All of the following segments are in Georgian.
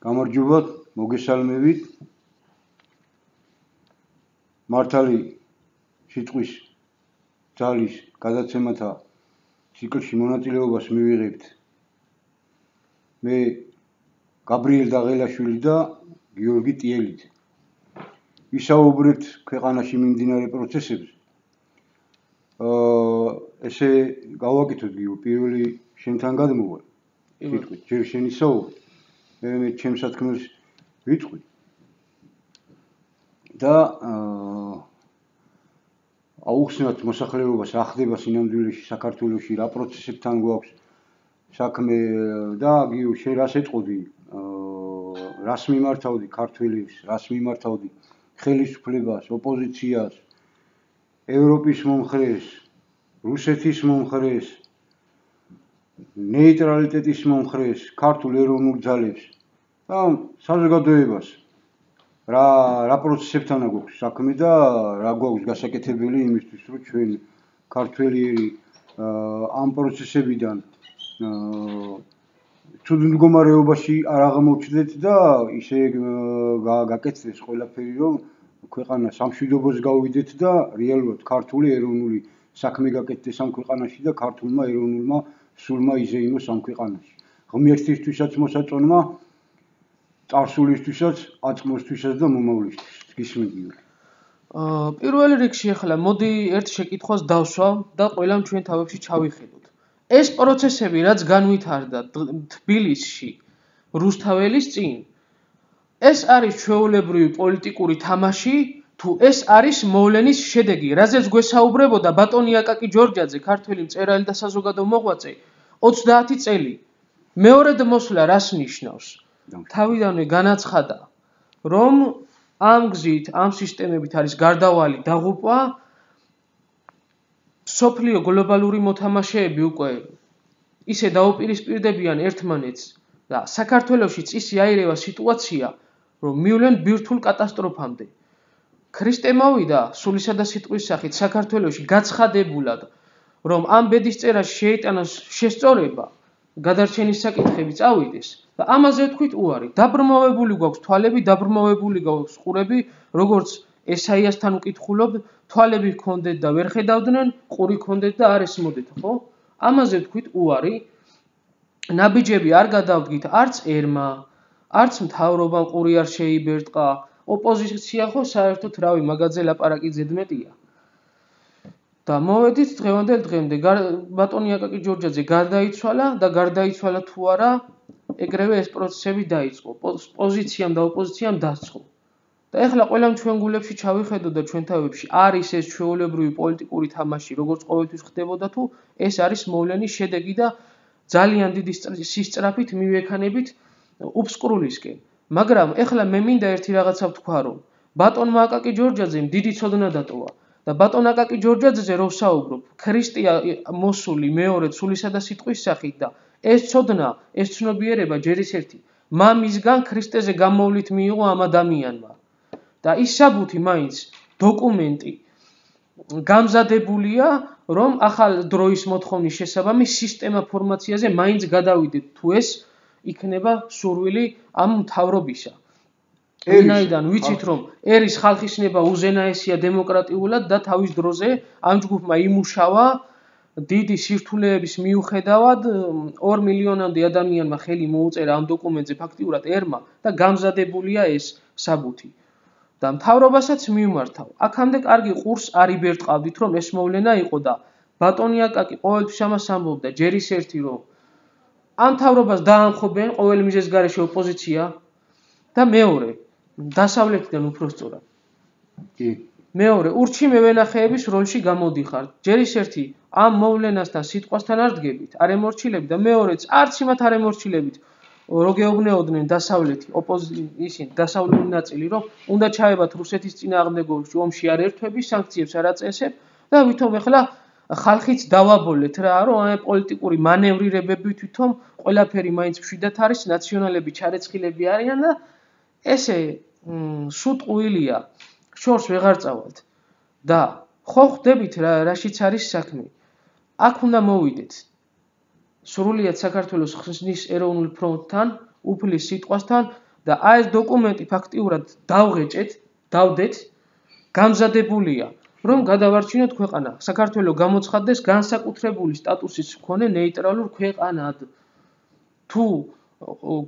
გამარჯობა, მოგესალმებით. მართალი სიტყვის ძალის გადაცემათა ციკლში მონაწილეობას მივიღებთ მე გაბრიელ დაღელაშვილი და გიორგი ტიელით. ვისაუბრებთ ქვეყანაში მიმდინარე პროცესებზე. ესე გავაკეთოთ გიო, პირველი შენთან გადმოვა. სიტყვით, ჯერ შენი საუბარი. მე ჩემს სათქმელს ვიტყვი და აუხსნათ მოსახლეობას რა ხდება სინამდვილეში საქართველოში, რა პროცესებთან გვაქვს საქმე და გიო შენ რას ეტყოდი, რას მიმართავდი ქართველებს, რას მიმართავდი ხელისუფლებას, ოპოზიციას, ევროპის მომხრეს, რუსეთის მომხრეს, ნეიტრალიტეტის მომხრეს, ქართულ ეროვნულ ძალებს და საზოგადოებას რა პროცესებთან გვაქვს საქმე და რა გვაქვს გასაკეთებელი იმისთვის, რომ ჩვენ ქართველიერი ამ პროცესებიდან ცუდ მდგომარეობაში არ აღმოჩნდეთ და ისე გაკეთდეს ყველაფერი, რომ ქვეყანა სამშვიდობოს გავიდეთ და რეალურად ქართული ეროვნული საქმე გაკეთდეს ამ ქვეყანაში და ქართულმა ეროვნულმა სულმა იზეიმოს ამ ქვეყანაში. ღმერთისთვისაც მოსაწონმა, წარსულისთვისაც, აწმოსთვისაც და მომავლისთვის. გისმენთ. პირველ რიგში ახლა მოდი ერთ შეკითხვას დავსვავ და ყველამ ჩვენ თავებში ჩავიხედოთ. ეს პროცესები რაც განვითარდა თბილისში რუსთაველის წინ, ეს არის ჩვეულებრივი პოლიტიკური თამაში, თუ ეს არის მოვლენის შედეგი, რაზეც გვესაუბრებოდა ბატონი აკაკი ჯორჯაძე, ქართველი მწერალი და საზოგადო მოღვაწე 30 წელი. მეორედ მოსვლა რას ნიშნავს? თავიდანვე განაცხადა, რომ ამ გზით, ამ სისტემებით არის გარდავალი დაღუპვა, სოფლიო გლობალური მოთამაშეები უკვე ისე დაუპირისპირდებიან ერთმანეთს და საქართველოშიც ისე აირევა სიტუაცია, რომ მივლენ ბირთვულ კატასტროფამდე. ქრისტე მოვიდა სულისა და სიტყვის სახით საქართველოში გაცხადებულად, რომ ამ ბედისწერაში შეიტანოს შესწორება, გადარჩენის საკითხები წავიდეს და ამაზე თქვით უარი. დაბრმავებული გვაქვს თვალები, დაბრმავებული გვაქვს ყურები, როგორც ესაიასთან უკითხულობ, თვალები გქონდეთ და ვერ ხედავდნენ, ყური გქონდეთ და არ ესმოდეთ, ხო? ამაზე თქვით უარი. ნაბიჯები არ გადავდგით არც ერმა, არც მთავრობამ ყური არ შეიბერტყა, ოპოზიცია ხო საერთოდ რავი მაგაზე ლაპარაკი ზედმეტია. და მოვედით დღევანდელ დღემდე ბატონი აკაკი ჯორჯაძე გარდაიცვალა და გარდაიცვალა თუ არა, ეგრევე ეს პროცესები დაიწყო. პოზიციამ და ოპოზიციამ დასწყო. და ეხლა ყველამ ჩვენ გულებში ჩავიხედოთ და ჩვენ თავებში არის ეს ჩვეულებრივი პოლიტიკური თამაში, როგორც ყოველთვის ხდებოდა თუ ეს არის მოვლენის შედეგი და ძალიან დიდი სისწრაფით მივექანებით უბსკრულისკენ. მაგრამ ეხლა მე მინდა ერთი რაღაცა ვთქვა, რომ ბატონმა აკაკი ჯორჯაძემ დიდი ცოდნა დატოვა და ბატონ აკაკი ჯორჯაძეზე რო ვსაუბრობ, ქრისტია მოსული მეორედ სულისა და სიტყვის სახით და ეს ცოდნა, ეს ცნობიერება ჯერ ის ერთი მამისგან ქრისტეზე გამოვლით მიიღო ამ ადამიანმა. და ის საბუთი მაინც დოკუმენტი გამზადებულია, რომ ახალ დროის მოთხოვნის შესაბამის სისტემა ფორმაციაზე მაინც გადავიდეთ, თუ ეს იქნება სურვილი ამ მთავრობისა. ვინაიდან ვიცით, რომ ერის ხალხის ნება უზენაესია დემოკრატიულად და თავის დროზე ამ ჯგუფმა იმუშავა დიდი სირთულეების მიუხედავად 2 მილიონამდე ადამიანმა ხელი მოუწერა ამ დოკუმენტზე ფაქტიურად ერმა და გამზადებულია ეს საბუთი. და მთავრობასაც მივმართავ. აქამდე კარგი ყურს არ იბერტყავდით, რომ ეს მოვლენა იყო და ბატონი აკაკი ყოველთვის ამას ამბობდა, ჯერ ის ერთი, რომ ამ მთავრობას დაამხობენ ყოველ მიზეზს გარეშე ოპოზიცია და მეორე, დასავლეთიდან უფრო სწორად. მეორე, ურჩი მევენახეების როლში გამოდიხართ. ჯერ ის ერთი, ამ მოვლენასთან სიტყვასთან არ დგებით, არ ემორჩილებით და მეორეც, არც იმათ არ ემორჩილებით, რო გეუბნეოდნენ დასავლეთი, ისინი დასავლური ნაწილი, რომ უნდა ჩაებათ რუსეთის წინააღმდეგო ომში არ ერთვები, სანქციებს არ აწესებ და ვითომ ეხლა ხალხიც დავაბოლეთ რა, რომ ამ პოლიტიკური მანევრირებები თვითონ ყველაფერი მაინც მშვიდად არის, ნაციონალები ჩარეცხილები არიან და ესე სუტყუილია, შორს ვეღარ წავალთ. და ხო ხვდებით რაშიც არის საქმე. აქ უნდა მოვიდეთ. სრულიად საქართველოს ხსნის ეროვნულ ფრონტთან, უფლის სიტყვასთან, და ეს დოკუმენტი ფაქტიურად დავდეთ, გამზადებულია, რომ გადავარჩინოთ ქვეყანა. საქართველოს გამოცხადდეს განსაკუთრებული სტატუსის მქონე ნეიტრალურ ქვეყანად. თუ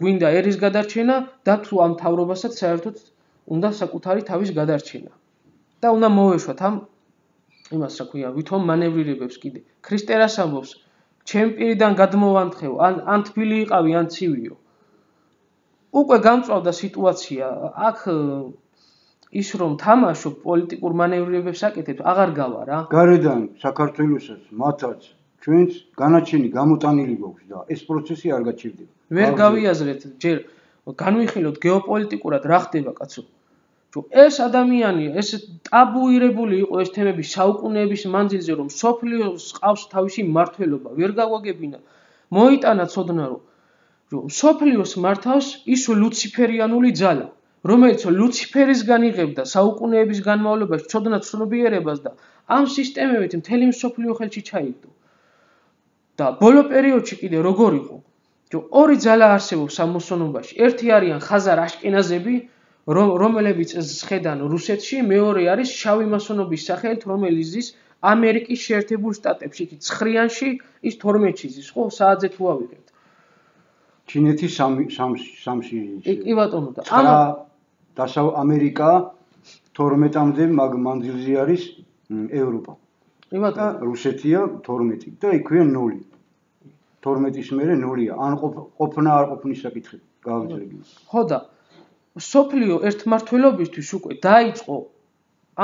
გვინდა ერის გადარჩენა და თუ ამ მთავრობასაც საერთოდ უნდა საკუთარი თავის გადარჩენა. და უნდა მოვეშვათ ამ იმას რა ქვია, ვითომ მანევრირებებს კიდე. ქრისტერას ამბობს, ჩემ პირიდან გადმოვანთხევ, ან თბილი იყავი, ან ცივიო. უკვე გამწვავდა სიტუაცია, აქ ის რომ თამაშო პოლიტიკურ მანევრირებებს აკეთებს, აღარ გავა რა. გარედან საქართველოსაც, მათაც, ჩვენც განაჩენი გამოტანილი გვაქვს და ეს პროცესი არ გაჩერდება. ვერ გავიაზრეთ, ჯერ განვიხილოთ გეოპოლიტიკურად რა ხდება, კაცო. ეს ადამიანი, ეს ტაბუირებული იყო ეს თემები საუკუნეების მანძილზე, რომ სოფლიოს ყავს თავისი მმართველობა, ვერ გავაგებინა. მოიტანა ცოდნა, რომ სოფლიოს მართავს ის ლუციფერიანული ძალა, რომელიც ლუციფერისგან იღებდა საუკუნეების განმავლობაში ცოდნა ცნობიერებას და ამ სისტემებით მთელი მსოფლიო ხელში ჩაიგდო. და ბოლო პერიოდში კიდე როგორ იყო? ორი ძალა არსებობს ამ მოსონობაში. ერთი არიან ხაზარ აშკენაზები, რომელებიც ზღედან რუსეთში, მეორე არის შავი მასონობის სახელით, რომელიც ზის ამერიკის შეერთებულ შტატებში, იქ ცხრიანში, ის 12-ში ზის, ხო, საათზე თუ ავიღებთ. ჩინეთი 3-ში. კი ბატონო და ამერიკა 12-მდე მანძილზე არის ევროპა. კი ბატონო. რუსეთია 12 და იქვეა 0. 12-ის მერე 0-ია. ან ყოფნა არ ყოფნის საკითხი გავაგზავნე. ხო და სოფლიო ერთმართველობისთვის უკვე დაიწყო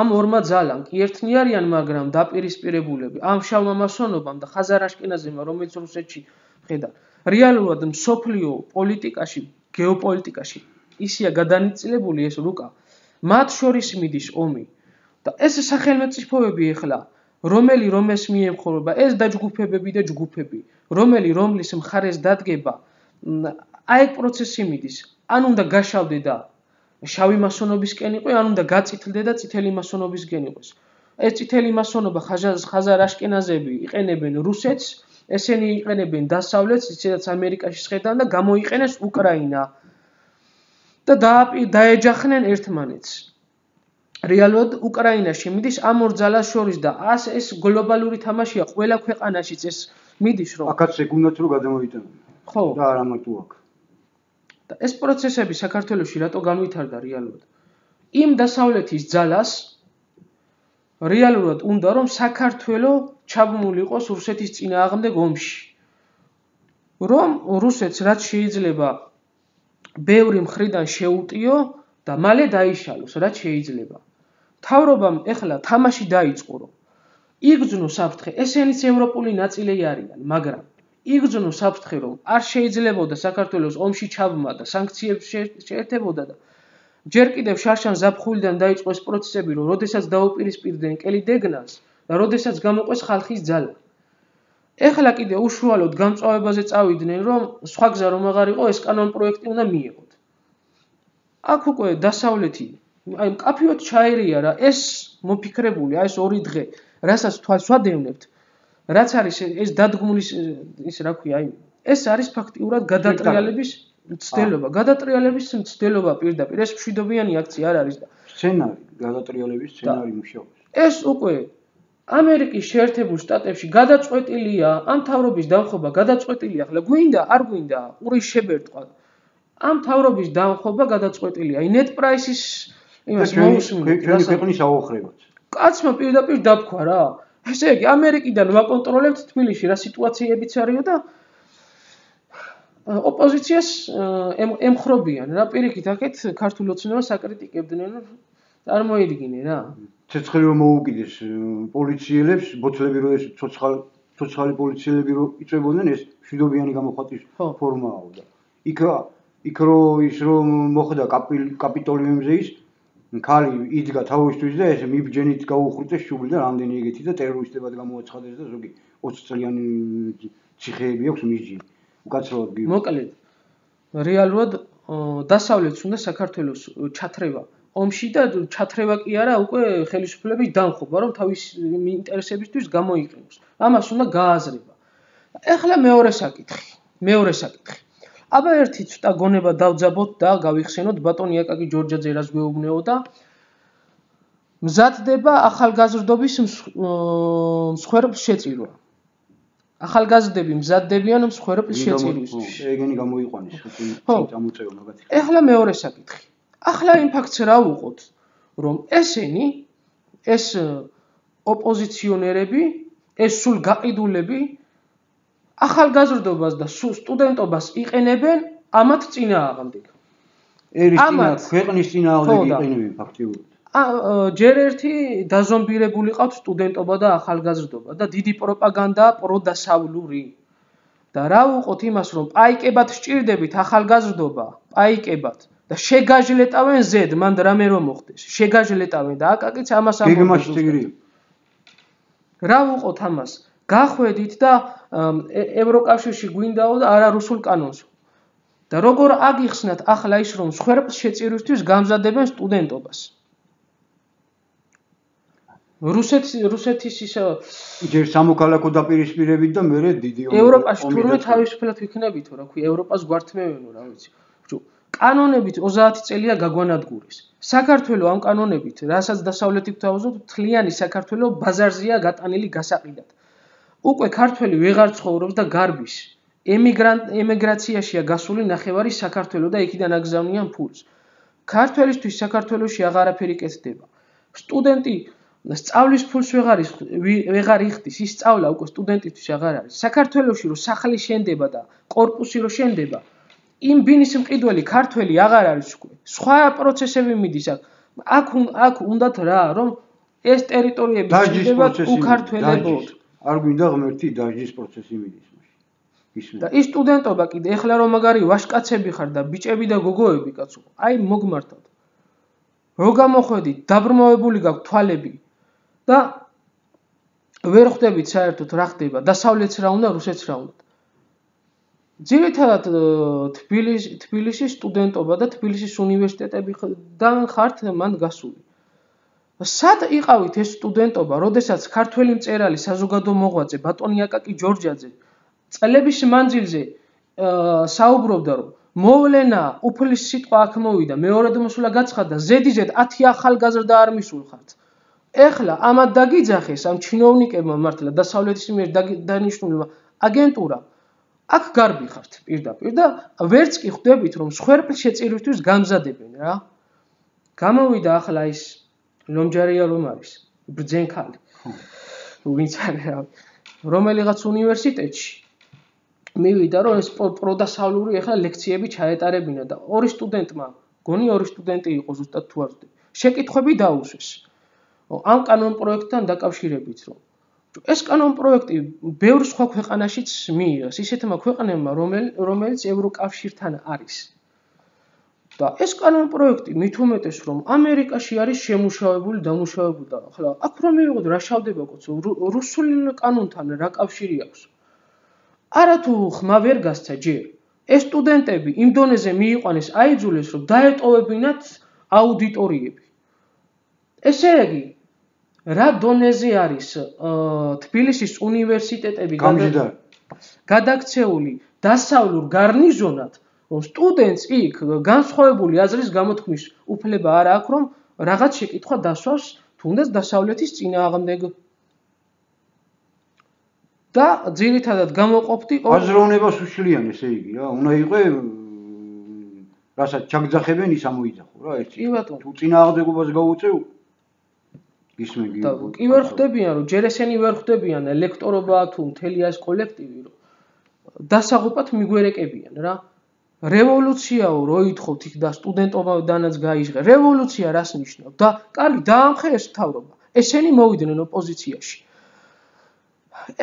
ამ ორმა ძალამ კი ერთნი არიან, მაგრამ დაპირისპირებულები ამ შავმა მასონობამ და ხაზარ აშკენაზებმა, რომელიც რუსეთში ხედა. რეალურად სოფლიო პოლიტიკაში, გეოპოლიტიკაში ისია გადანაწილებული ეს რუკა. მათ შორის მიდის ომი და ეს სახელმწიფოები ეხლა რომელს მიემხრობა, ეს დაჯგუფებები და ჯგუფები, რომლის მხარეს დადგება, აი პროცესი მიდის. ან უნდა გაშავდე და შავი მასონობისკენ იყო, ან უნდა გაწითლდე და წითელი მასონობისკენ იყოს. ეს წითელი მასონობა ხაზარ აშკენაზები იყენებენ რუსეთს, ესენი იყენებენ დასავლეთს, ისედაც ამერიკაში შედან და გამოიყენეს უკრაინა. და დაეჯახნენ ერთმანეთს. რეალურად უკრაინაში მიდის ამ ორ ძალას შორის და ეს გლობალური თამაშია ყველა ქვეყანაშიც ეს მიდის რომ აქაც ეგუნდათ რომ გადამოიტანონ. ხო და არა მარტო აქ. და ეს პროცესები საქართველოში რატო განვითარდა რეალურად? იმ დასავლეთის ძალას რეალურად უნდა რომ საქართველოს ჩაბმული იყოს რუსეთის წინააღმდეგ ომში. რომ რუსეთს რაც შეიძლება ბევრი მხრიდან შეუტიო და მალე დაიშალოს, რაც შეიძლება. მთავრობამ ეხლა თამაში დაიწყო, რომ იგრძნო საფრთხე, ესენიც ევროპული ნაწილები არიან, მაგრამ იგრძნო საფრთხე, რომ არ შეიძლებოდა საქართველოს ომში ჩაბმა და სანქციებს შეერთებოდა და ჯერ კიდევ შარშან ზაფხულიდან დაიწყო ეს პროცესები, რომ როდესაც დაუპირისპირდნენ კელი დეგნას და როდესაც გამოყვეს ხალხის ძალა. ეხლა კიდე უშუალოდ გამწვავებაზე წავიდნენ, რომ სხვა გზა რომ აღარ იყო, ეს კანონ პროექტი უნდა მიიღოთ. აქ უკვე დასავლეთი, აი მკაფიოდ ჩაერია რა, ეს მოფიქრებული, ეს ორი დღე, რასაც თვალს ვადევნებთ, რაც არის ეს დადგმულის ის რა ქვია, აი ეს არის ფაქტიურად გადატრიალების მცდელობა პირდაპირ, ეს მშვიდობიანი აქცია არ არის და სცენარი, გადატრიალების სცენარი მუშაობს. ეს უკვე ამერიკის შეერთებულ შტატებში გადაწყვეტილია, ამ მთავრობის დამხობა გადაწყვეტილია, ახლა გვინდა, არ გვინდა, ურის შებერტყვა. ამ მთავრობის დამხობა გადაწყვეტილია. აი net price-ის იმას მოусმინეთ. ჩვენი ქვეყნის აოხრებაც. კაცმა პირდაპირ დაფქვა რა. ესე იგი, ამერიკიდან ვაკონტროლებთ თბილისში რა სიტუაციებიც არისო და ოპოზიციას ემხრობიან რა, პირიქით აქეთ ქართულ ოცნებას აკრიტიკებდნენ, წარმოედგინე რა. ცეცხლი რომ მოუკიდეს პოლიციელებს, ბოთლები რო ეს ცოცხალი პოლიციელები რო იწვებოდნენ, ეს მშვიდობიანი გამოხატვის ფორმაა და იქ რო ის რომ მოხდა კაპიტოლიუმზე ის ქალი იდგა თავისთვის და ეს მიბჯენით გაუხრწეს შუბლი და რამდენი ეგეთი და ტერორისტებად გამოაცხადეს და ზოგი 20 წლიანი ციხეები აქვს მისჯილი. უკაცრავად გიგო. მოკლედ რეალურად დასავლეთს უნდა საქართველოს ჩათრევა ომში და ჩათრევა კი არა, უკვე ხელისუფლების დამხობა, რომ თავის ინტერესებისთვის გამოიყენოს. ამას უნდა გააზრება. ეხლა მეორე საკითხი. აბა ერთი ცოტა გონება დავძაბოთ და გავიხსენოთ ბატონი აკაკი ჯორჯაძე რას გვეუბნეოდა. მზადდება ახალგაზრდობის მსხვერპლ შეწირვა. ახალგაზრდები მზადდებიან მსხვერპლ შეწირვისთვის. ეგენი გამოიყვანის წამოწევა მაგათი. ეხლა მეორე საკითხი. ახლა იმ ფაქტს რა ვუყოთ, რომ ესენი ეს ოპოზიციონერები, ეს სულ გაყიდულები ახალგაზრდობას და სტუდენტობას იყენებენ ამათ წინააღმდეგ. ქვეყნის წინააღმდეგ იყენებენ ფაქტიურად. ჯერ ერთი დაზომბირებული ყავთ სტუდენტობა და ახალგაზრდობა და დიდი პროპაგანდაა პროდასავლური. და რა ვუყოთ იმას, რომ პაიკებად სჭირდებით ახალგაზრდობა, პაიკებად და შეგაჟლეტავენ ზედ, მან რამე რომ მოხდეს. შეგაჟლეტავენ და აკაკიც ამას ამბობს. გეგმაში წიგრია. რა ვუყოთ ამას? გახვედით და ევროკავშირში გვინდაო და არა რუსულ კანონს. და როგორ აგიხსნათ ახლა ის, რომ მსხვერპლ შეწირვისთვის გამზადებენ სტუდენტობას. რუსეთის ის ჯერ სამოქალაქო დაპირისპირებით და მერე დიდი ევროპაში თურმე თავისუფლად ვიქნებითო, რა ქვია, ევროპას გვართმევენო, რა ვიცი. კანონებით 30 წელია გაგვანადგურეს. საქართველო ამ კანონებით, რასაც დასავლეთი გვთავაზობთ, მთლიანი საქართველო ბაზარზეა გატანილი გასაყიდად. უკვე ქართველი ვეღარ ცხოვრობს და გარბის. ემიგრაციაშია გასული ნახევარი საქართველო და იქიდან აგზავნიან ფულს. ქართველისთვის საქართველოში აღარაფერი კეთდება. სტუდენტი სწავლის ფულს ვეღარ იხდის, ის სწავლა უკვე სტუდენტისთვის აღარ არის. საქართველოში რომ სახლი შენდება და კორპუსი რომ შენდება, იმ ბინის მყიდველი ქართველი აღარ არის უკვე. სხვა პროცესები მიდის აქ უნდათ რა, რომ ეს ტერიტორიები შენდებათ უქართველებოდ. არ გვინდა ღმერთი დაჟის პროცესი მიდის მაშინ. და ის სტუდენტობა კიდე ეხლა რომ მაგარი ვაშკაცები ხარ და ბიჭები და გოგოები კაცო, აი მოგმართად. რო გამოხვედით, დაბრმავებული გაქვთ თვალები და ვერ ხვდებით საერთოდ რა ხდება, დასავლეთს რა უნდა, რუსეთს რა უნდა. ძირითადად თბილისის სტუდენტობა და თბილისის უნივერსიტეტებიდან ხართ მან გასული. სად იყავით ეს სტუდენტობა, როდესაც ქართველი მწერალი საზოგადო მოღვაწე ბატონი აკაკი ჯორჯაძე წლების მანძილზე საუბრობდა, რომ მოვლენა უფლის სიტყვა აქ მოვიდა, მეორედ მოსვლა გაცხადა, ზედიზედ 10 ახალგაზრდა არ მისულხართ. ეხლა ამათ დაგიძახეს ამ ჩინოვნიკებმა მართლა დასავლეთის მიერ დანიშნულმა აგენტურამ. აქ გარბი ხართ პირდაპირ და ვერც კი ხვდებით, რომ მსხვერპლ შეწირვისთვის გამზადებენ რა. გამოვიდა ახლა ის ლომჯარია რომ არის, ბრძენქალი. ვინც არის რა. რომელიღაც უნივერსიტეტში მივიდა რომ ეს პროდასავლური ახლა ლექციები ჩაეტარებინა და ორი სტუდენტმა, გონი ორი სტუდენტი იყო ზუსტად თუ არ ვთქვი. შეკითხვები დაუსვეს. ამ კანონ პროექტთან დაკავშირებით რომ ეს კანონ პროექტი ბევრ სხვა ქვეყანაშიც მიიღეს, ისეთმა ქვეყნებმა, რომელიც ევროკავშირთან არის. და ეს კანონ პროექტი მით უმეტეს რომ ამერიკაში არის შემუშავებული, დამუშავებული და ახლა აქ რომ მივიღოთ რა შავდება კაცო, რუსულ კანონთან რა კავშირი აქვს? არათუ ხმა ვერ გასცა ჯერ. ეს სტუდენტები იმ დონეზე მიიყვანეს, აიძულეს რომ დაეტოვებინათ აუდიტორიები. ესე იგი რა დონეზე არის თბილისის უნივერსიტეტები გადაქცეული დასავლურ გარნიზონად, რომ სტუდენტს იქ განსხვავებული აზრის გამოთქმის უფლება არ აქვს, რომ რაღაც შეკითხვა დასვას თუნდაც დასავლეთის წინააღმდეგ. და ძირითადად გამოყოფდი აზროვნებას უშლიან, ესე იგი რა, უნდა იყო რასაც ჩაგძახებენ ის ამოიძახო რა, ერთი. თუ წინააღმდეგობას გაუწევ კი ვერ ხვდებიან, რომ ჯერ ესენი ვერ ხვდებიან ელექტორობა თუ მთელი ეს კოლექტივი, რომ დასაღუპად მიგვერეკებიან რა. რევოლუციაო რო ითხოვთ იქ და სტუდენტობიდანაც გაიჟღე. რევოლუცია რას ნიშნავს? და კარგი, დაამხე ეს მთავრობა. ესენი მოვიდნენ ოპოზიციაში.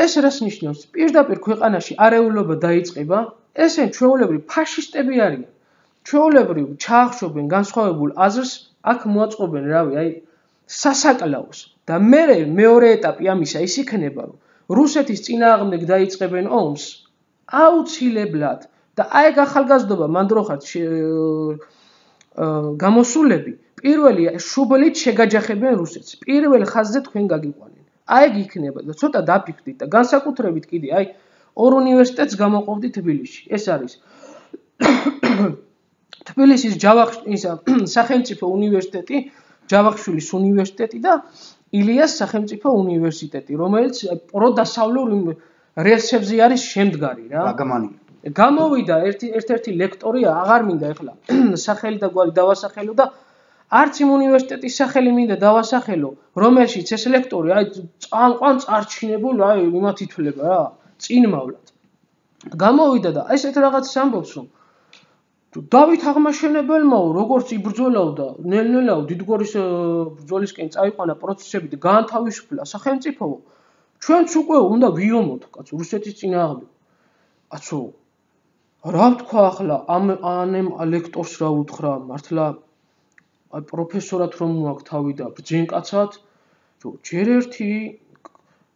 ეს რას ნიშნავს? პირდაპირ ქვეყანაში არეულობა დაიწყება, ესენი ჩვეულებრივ ფაშისტები არიან. ჩვეულებრივ ჩაახშობენ განსხვავებულ აზრს, აქ მოაწყობენ რავი, აი სასაკლაოს და მეორე ეტაპი ამისა ის იქნება, რომ რუსეთის წინააღმდეგ დაიწყებენ ომს აუცილებლად და აი ახალგაზრდობა მანდროხად გამოსულები პირველი შუბლით შეგაჯახებენ რუსეთს. პირველ ხაზზე თქვენ გაგიყვანენ. აი იქნება და ცოტა დაფიქრდით და განსაკუთრებით კიდე აი ორ უნივერსიტეტს გამოყოფდით თბილისში. ეს არის თბილისის სახელმწიფო უნივერსიტეტი, ჯავახიშვილის უნივერსიტეტი და ილიას სახელმწიფო უნივერსიტეტი, რომელიც პროდასავლურ რელსებზე არის შემდგარი რა. გამოვიდა ერთ-ერთი ლექტორი, აღარ მინდა ეხლა სახელი და გვარი დავასახელო და არც იმ უნივერსიტეტის სახელი მინდა დავასახელო, რომელშიც ეს ლექტორი აი წამყვან წარჩინებულ აი იმათ ითვლება რა, წინმავლად. გამოვიდა და ესეთ რაღაცას ამბობს, რომ დავით აღმაშენებელმაო როგორც იბრძოლავდა, ნელ-ნელა დიდგორის ბრძოლისკენ წაიყვანა პროცესები და გაანთავისუფლა სახელმწიფო, ჩვენც უკვე უნდა ვიომოთ, კაცო, რუსეთის წინააღმდეგ. კაცო, რა ვთქვა ახლა ამ ლექტორს რა უთხრა, მართლა აი პროფესორად რომ მოაქვს თავი და ბრძენკაცად, ჯერ ერთი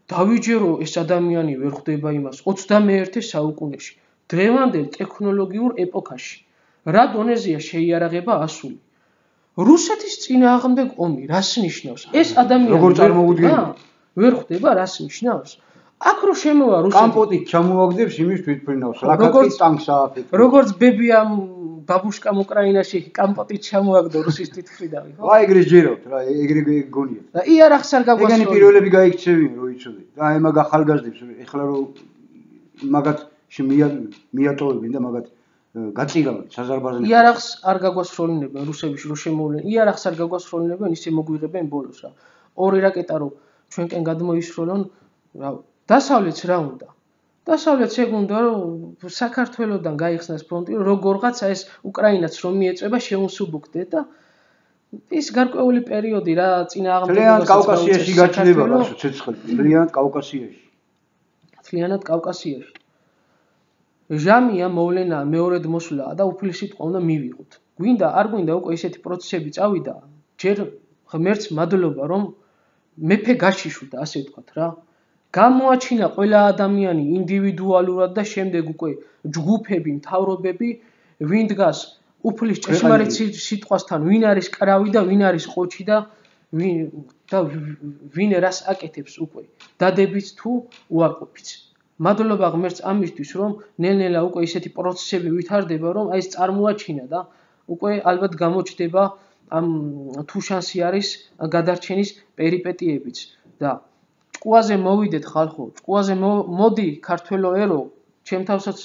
დავიჯერო ეს ადამიანი ვერ ხვდება იმას 21 საუკუნეში, დღევანდელ ტექნოლოგიურ ეპოქაში. რა დონეზეა შეიარაღება ასული. რუსეთის წინააღმდეგ ომი რას ნიშნავს? ეს ადამიანი როგორ წარმოვიდგენია? ვერ ხვდება რას ნიშნავს? აქ რო შემოვა რუსეთი კამპოტით ჩამოაგდებს იმის თვითფრინავს, ლაკატკის ტანკს ააფეთქებს. როგორც ბებიამ ბაბუშკამ უკრაინაში კამპოტით ჩამოაგდო რუსის თვითფრინავი, ხო? აი ეგრე ჯეროთ რა, ეგრე გონია. და იარაღს არ გაგვასწორებს. ეგენი პირველები გაიქცევიან, რო იცოდე. და აი მაგ ახალგაზრდებს ეხლა რო მაგათ მიატოვებენ და მაგათ გაწირავენ საზარბაზნე. იარაღს არ გაგვასროლინებენ რუსებში რო შემოვლენ. იარაღს არ გაგვასროლინებენ, ისე მოგვიღებენ ბოლოს რა. ორი რაკეტა რო ჩვენკენ გადმოისროლონ, რა დასავლეთს რა უნდა? დასავლეთს ეგ უნდა რომ საქართველოსდან გაიხსნას ფრონტი, როგორღაცა ეს უკრაინაც რომ მიეწება შეუნსუბუქდეთ და ის გარკვეული პერიოდი რა წინააღმდეგობასაც კავკასიაში გაჩნდება რა ცეცხლი, ძალიანად კავკასიაში. ძალიანად კავკასიაში. ჟამია მოვლენა მეორედ მოსვლა და უფლისიტყვა უნდა მივიღოთ. გვინდა არ გვინდა უკვე ესეთი პროცესები წავიდა, ჯერ ღმერთს მადლობა რომ მეფე გაშიშვდა, ასე ვთქვათ რა. გამოაჩინა ყველა ადამიანი ინდივიდუალურად და შემდეგ უკვე ჯგუფები, მთავრობები, ვინ დგას უფლის ჭეშმარიტ სიტყვასთან, ვინ არის კრავი და ვინ არის ყოჩი და ვინ რას აკეთებს უკვე, დადებიც თუ უარყოფიც. მადლობა ღმერთს ამისთვის, რომ ნელ-ნელა უკვე ესეთი პროცესები ვითარდება, რომ აი ეს წარმოაჩინა და უკვე ალბათ გამოჩნდება ამ თუ შანსი არის გადარჩენის პერიპეტიებიც და ჭკუაზე მოვიდეთ ხალხო, ჭკუაზე მოდი ქართველო ერო, ჩემ თავსაც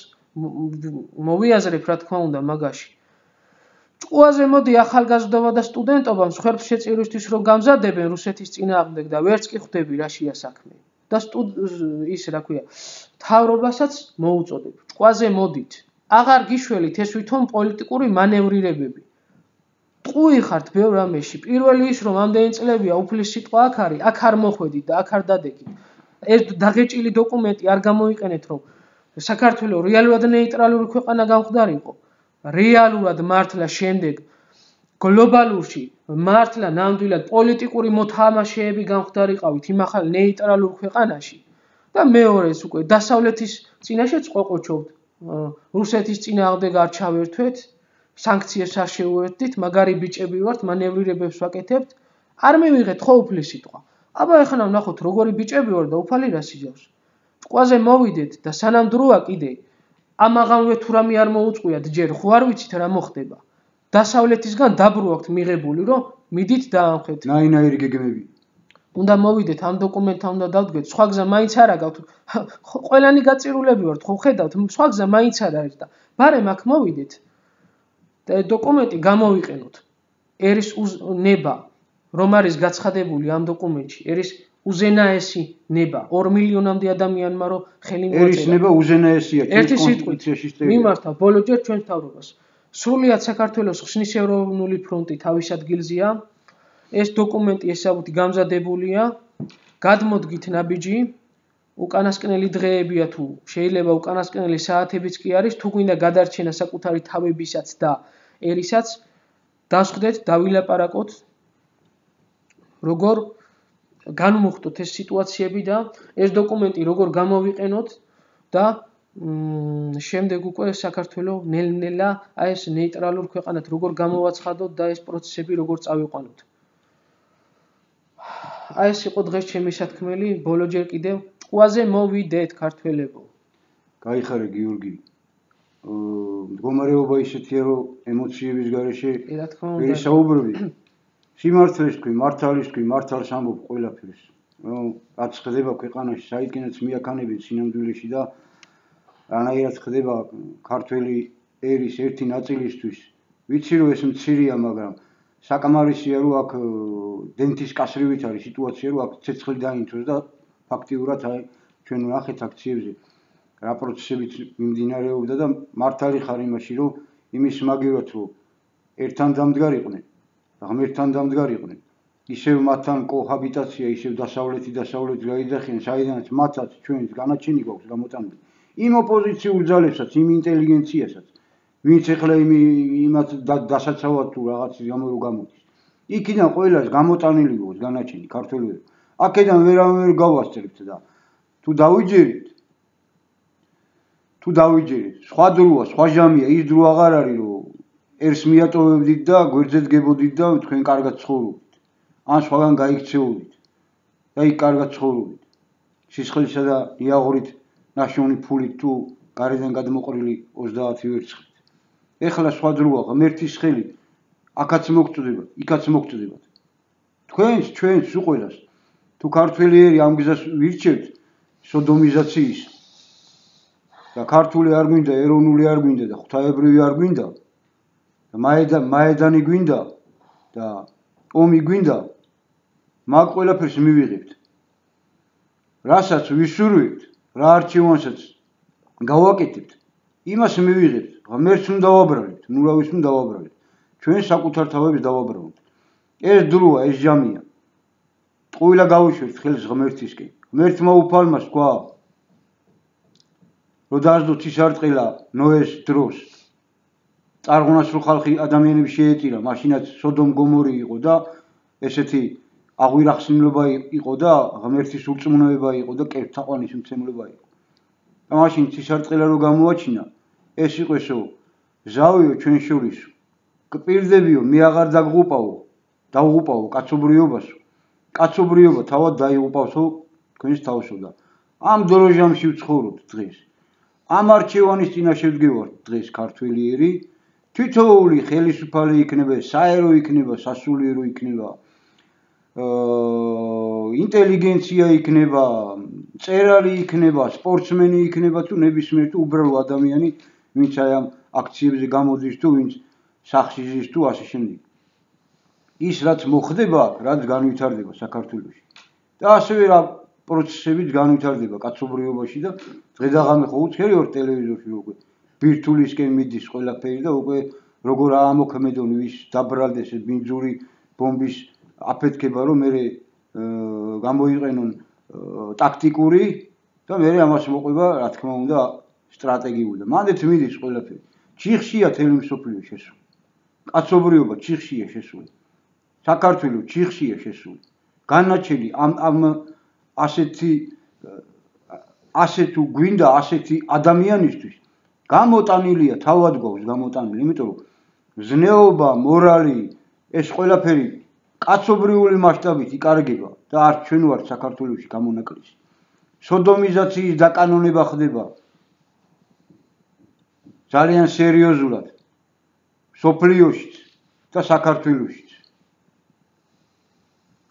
მოვიაზრებ რა თქმა უნდა მაგაში. ჭკუაზე მოდი ახალგაზრდობა და სტუდენტობა მსხვერპლ შეწირვისთვის რომ გამზადებენ რუსეთის წინააღმდეგ და ვერც კი ხვდები რაშია საქმე. და ის რა ქვია, მთავრობასაც მოუწოდებ. ჭკუაზე მოდით. აღარ გიშველით ეს ვითომ პოლიტიკური მანევრირებები. ტყუი ხართ ბევრ რამეში. პირველი ის რომ ამდენი წლებია უფლის სიტყვა აქ არის, აქ არ მოხვედით და აქ არ დადეკით. ეს დაღეჭილი დოკუმენტი არ გამოიყენეთ რომ საქართველოს რეალურად ნეიტრალური ქვეყანა გამხდარიყო. რეალურად მართლა შემდეგ გლობალურში მართლა ნამდვილად პოლიტიკური მოთამაშეები გამხდარიყავით იმ ახალ ნეიტრალურ ქვეყანაში და მეორეს უკვე დასავლეთის წინაშეც ყოყოჩობთ. რუსეთის წინააღმდეგ არ ჩავერთვეთ, სანქციებს არ შეუერთდით, მაგარი ბიჭები ვართ, მანევრირებებს ვაკეთებთ, არ მივიღეთ ხო უფლის სიტყვა. აბა ეხლა ვნახოთ როგორი ბიჭები ვარ და უფალი რას იზავს. ჭკუაზე მოვიდეთ და სანამ დროა კიდე ამაღანვე თუ რამე არ მოუწყვიათ ჯერ ხო არ ვიცით რა მოხდება. დასავლეთისგან დაბრუ აქვთ მიღებული რომ მიდით დაამხეთ. ნაინაირი გეგმები. უნდა მოვიდეთ ამ დოკუმენტთან უნდა დავდგეთ, სხვა გზა მაინც არ აგავთ. ყველანი გაწირულები ვართ, ხო ხედავთ, სხვა გზა მაინც არ არის და ბარემ აქ მოვიდეთ. და დოკუმენტი გამოვიყენოთ. ერის ნება რომ არის გაცხადებული ამ დოკუმენტში, ერის უზენაესი ნება 2 მილიონამდე ადამიანმა რომ ხელი მოაწერა. ერის ნება უზენაესია, ერთი სიტყვით მიმართა ბოლოჯერ ჩვენ მთავრობას. სრულიად საქართველოს ხსნის ეროვნული ფრონტი თავის ადგილზეა. ეს დოკუმენტი ესაბუთი გამზადებულია. გადმოდგით ნაბიჯი. უკანასკნელი დღეებია თუ შეიძლება უკანასკნელი საათებიც კი არის, თუ გვინდა გადარჩენა საკუთარი თავებისაც დაერისაც, დასხდეთ, დავილაპარაკოთ, როგორ განმოხტოთ ეს სიტუაციები და ეს დოკუმენტი როგორ გამოვიყენოთ და შემდეგ უკვე საქართველოს ნელ-ნელა აი ეს ნეიტრალურ ქვეყანად როგორ გამოვაცხადოთ და ეს პროცესები როგორ წავიყვანოთ. აი ეს იყო დღეს ჩემი სათქმელი, ბოლოჯერ კიდევ ჭკუაზე მოვიდეთ ქართველებო. გაიხარე გიორგი. მდგომარეობა ისეთია, რომ ემოციების გარეშე რა თქმა უნდა. ვერ ისაუბრები. სიმართლეს თქვი, მართალის თქვი, მართალს ამბობ ყველაფერს. რაც ხდება ქვეყანაში, საიდანაც მიაქანებენ სინამდვილეში და რანაირად ხდება ქართველი ერის ერთი ნაწილისთვის. ვიცი რომ ეს მცირეა, მაგრამ საკმარისია რომ აქ დენთის კასრივით არის სიტუაცია, რომ აქ ცეცხლი დაინთოს და ფაქტიურად აი ჩვენ ვნახეთ აქციებზე რა პროცესებიც მიმდინარეობდა და მართალი ხარ იმაში, რომ იმის მაგივრად რომ ერთთან დამდგარიყვნენ, ღმერთთან დამდგარიყვნენ. ისევ მათთან კოჰაბიტაცია, ისევ დასავლეთი გაიძახიან, საიდანაც მათაც ჩვენს განაჩენი გვაქვს გამოტანილი. იმ ოპოზიციურ ძალებსაც, იმ ინტელიგენციასაც, ვინც ეხლა იმათ დასაცავად თუ რაღაცის გამო რო გამოდის. იქიდან ყველას გამოტანილი გვაქვს განაჩენი ქართველები. აქედან ვერავინ გავასწრებთ და თუ დავიჯერეთ, სხვა დროა, სხვა ჟამია, ის დრო აღარ არის, რომ ერს მიატოვებდით და გვერდზე დგებოდით და თქვენ კარგად ცხოვრობთ. ან სხვაგან გაიქცეოდით და იქ კარგად ცხოვრობთ. სისხლისა და იაღორით ნაშოვნი ფულით თუ გარედან გადმოყრილი 30 ვერცხლით. ეხლა სხვა დროა, ღმერთის ხელი აქაც მოგწდებათ, იქაც მოგწდებათ. ჩვენს უყველას თუ ქართველი ერი ამ გზას ვირჩევთ სოდომიზაციის და ქართული არ გვინდა, ეროვნული არ გვინდა და ღვთაებრივი არ გვინდა და მაედანი გვინდა და ომი გვინდა, მაგ ყველაფერს მივიღებთ. რასაც ვისურვებთ, რა არჩევანსაც გავაკეთებთ, იმას მივიღებთ. ღმერთს უნდა დავაბრალებთ, ნურავის უნდა დავაბრალებთ. ჩვენ საკუთარ თავებს დავაბრალოთ. ეს დროა, ეს ჟამია. ტყუილა გავიშვერთ ხელს ღმერთისკენ. ღმერთმა უფალმა თქვა, რომ დაასდო ცისარტყელა ნოეს დროს. წარღუნას რო ხალხი ადამიანები შეეწირა, მაშინაც სოდომ გომორი იყო და ესეთი აღვირახსნილობა იყო და ღმერთის ურწმუნოება იყო და კერთაყვანის მცემლობა იყო. და მაშინ ცისარტყელა რო გამოაჩინა, ეს იყო ესო ზავიო ჩვენ შორისო. კპირდებიო, მე აღარ დავღუპავო კაცობრიობასო. კაცობრიობა თავად დაიღუპავსო თქვენს თავსო და ამ დოროჟამში ვცხოვრობთ დღეს. ამ არჩევანის წინაშე ვდგევართ დღეს ქართველი ერი. თითოეული ხელისუფალი იქნება, საერო იქნება, სასულიერო იქნება, ინტელიგენცია იქნება, მწერალი იქნება, სპორტსმენი იქნება თუ ნებისმიერ თუ უბრალო ადამიანი, ვინც აი ამ აქციებზე გამოდის თუ ვინც სახლში ზის თუ ასე შემდეგ. ის რაც მოხდება, რაც განვითარდება საქართველოში. და ასევე რა პროცესებიც განვითარდება კაცობრიობაში და დღედაღამე ხო უცხერი ვარ ტელევიზორში უკვე ბირთულისკენ მიდის ყველაფერი და უკვე როგორ ამოქმედონ ვის დაბრალდეს ბინძური ბომბის აფეთქება, რომ მე გამოიყენონ ტაქტიკური და მე ამას მოყვება, რა თქმა უნდა, სტრატეგიული და მანდეთ მიდის ყველაფერი. ჩიხშია თელი მსოფლიო შესული. კაცობრიობა ჩიხშია შესული. საქართველო ჩიხშია შესული. განაჩენი ამ ასეთ თუ გვინდა ასეთი ადამიანისთვის გამოტანილია, თავად გვაქვს გამოტანილი, იმიტომ რომ ზნეობა, მორალი, ეს ყველაფერი კაცობრიული მასშტაბით იკარგება და არც ჩვენ ვართ საქართველოში გამონაკლისი. სოდომიზაციის დაკანონება ხდება ძალიან სერიოზულად სოფლიოშიც და საქართველოშიც.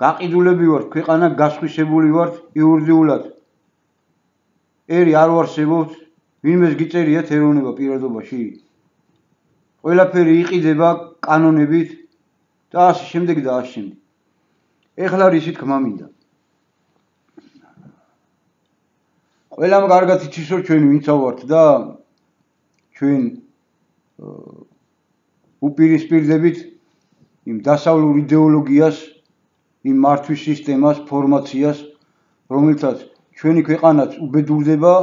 გაყიდულები ვართ, ქვეყანა გასხვისებული ვართ იურიდიულად. ერი არ ვარსებობთ, ვინმეს გიწერიათ ეროვნება პირადობაში. ყველაფერი იყიდება კანონებით და ასე შემდეგ და ასე შემდეგ. ეხლა რისი თქმა მინდა. ყველამ კარგად იცის, რომ ჩვენ ვინცა ვართ და ჩვენ უპირისპირდებით იმ დასავლურ იდეოლოგიას, იმ მართვის სისტემას, ფორმაციას, რომელთაც ჩვენი ქვეყანაც უბედურდება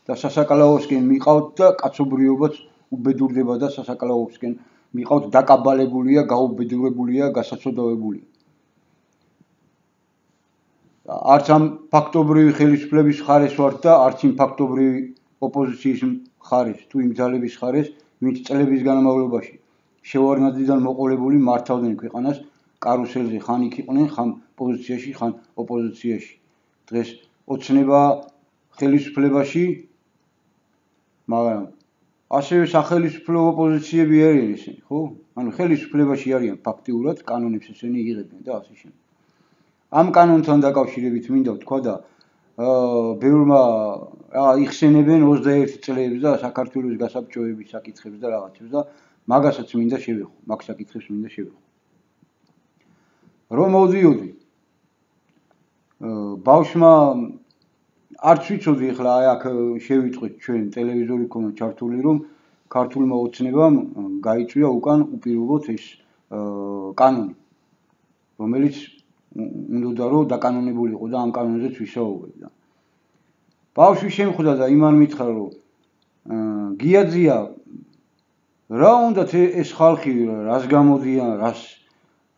და სასაკალაოსკენ მიყავთ და კაცობრიობაც უბედურდება და სასაკალაოსკენ მიყავთ, დაკაბალებულია, გაუბედურებულია, გასაცოდავებულია. არც ამ ფაქტობრივი ხელისუფლების ხარეს ვართ და არც იმ ფაქტობრივი ოპოზიციის ხარეს, თუ იმ ძალების ხარეს, ვინც წლების განმავლობაში შევარდნადიდან მოყოლებული მართავდნენ ქვეყანას კარუსელზე, ხან იქ იყვნენ, ხან პოზიციაში, ხან ოპოზიციაში. დღეს ოცნება ხელისუფლებაში, მაგრამ ასევე სახელმწიფო პოზიციები არიან ისინი, ხო? ანუ ხელისუფლებაში არიან ფაქტიურად, კანონებს ესენი იღებენ და ასე შემდეგ. ამ კანონთან დაკავშირებით მინდა ვთქვა და ბევრმა იხსენებენ 21 წლებს და საქართველოს გასაბჭოების საკითხებს და რაღაცებს და მაგასაც მინდა შევეხო, მაგ საკითხებს მინდა შევეხო. რომ მოვდიოდი ბავშვმა არც ვიცოდი ახლა აქ შევიწყვეთ ჩვენ ტელევიზორი ქონა ჩართული რომ ქართულმა ოცნებამ გაიწვია უკან უპირობოდ ეს კანონი რომელიც უნდა რომ დაკანონებულიყო და ამ კანონზეც ვისაუბრებდა. ბავშვი შემხვდა და იმან მითხრა რომ გიაძია რა უნდა ეს ხალხი რას გამოდიან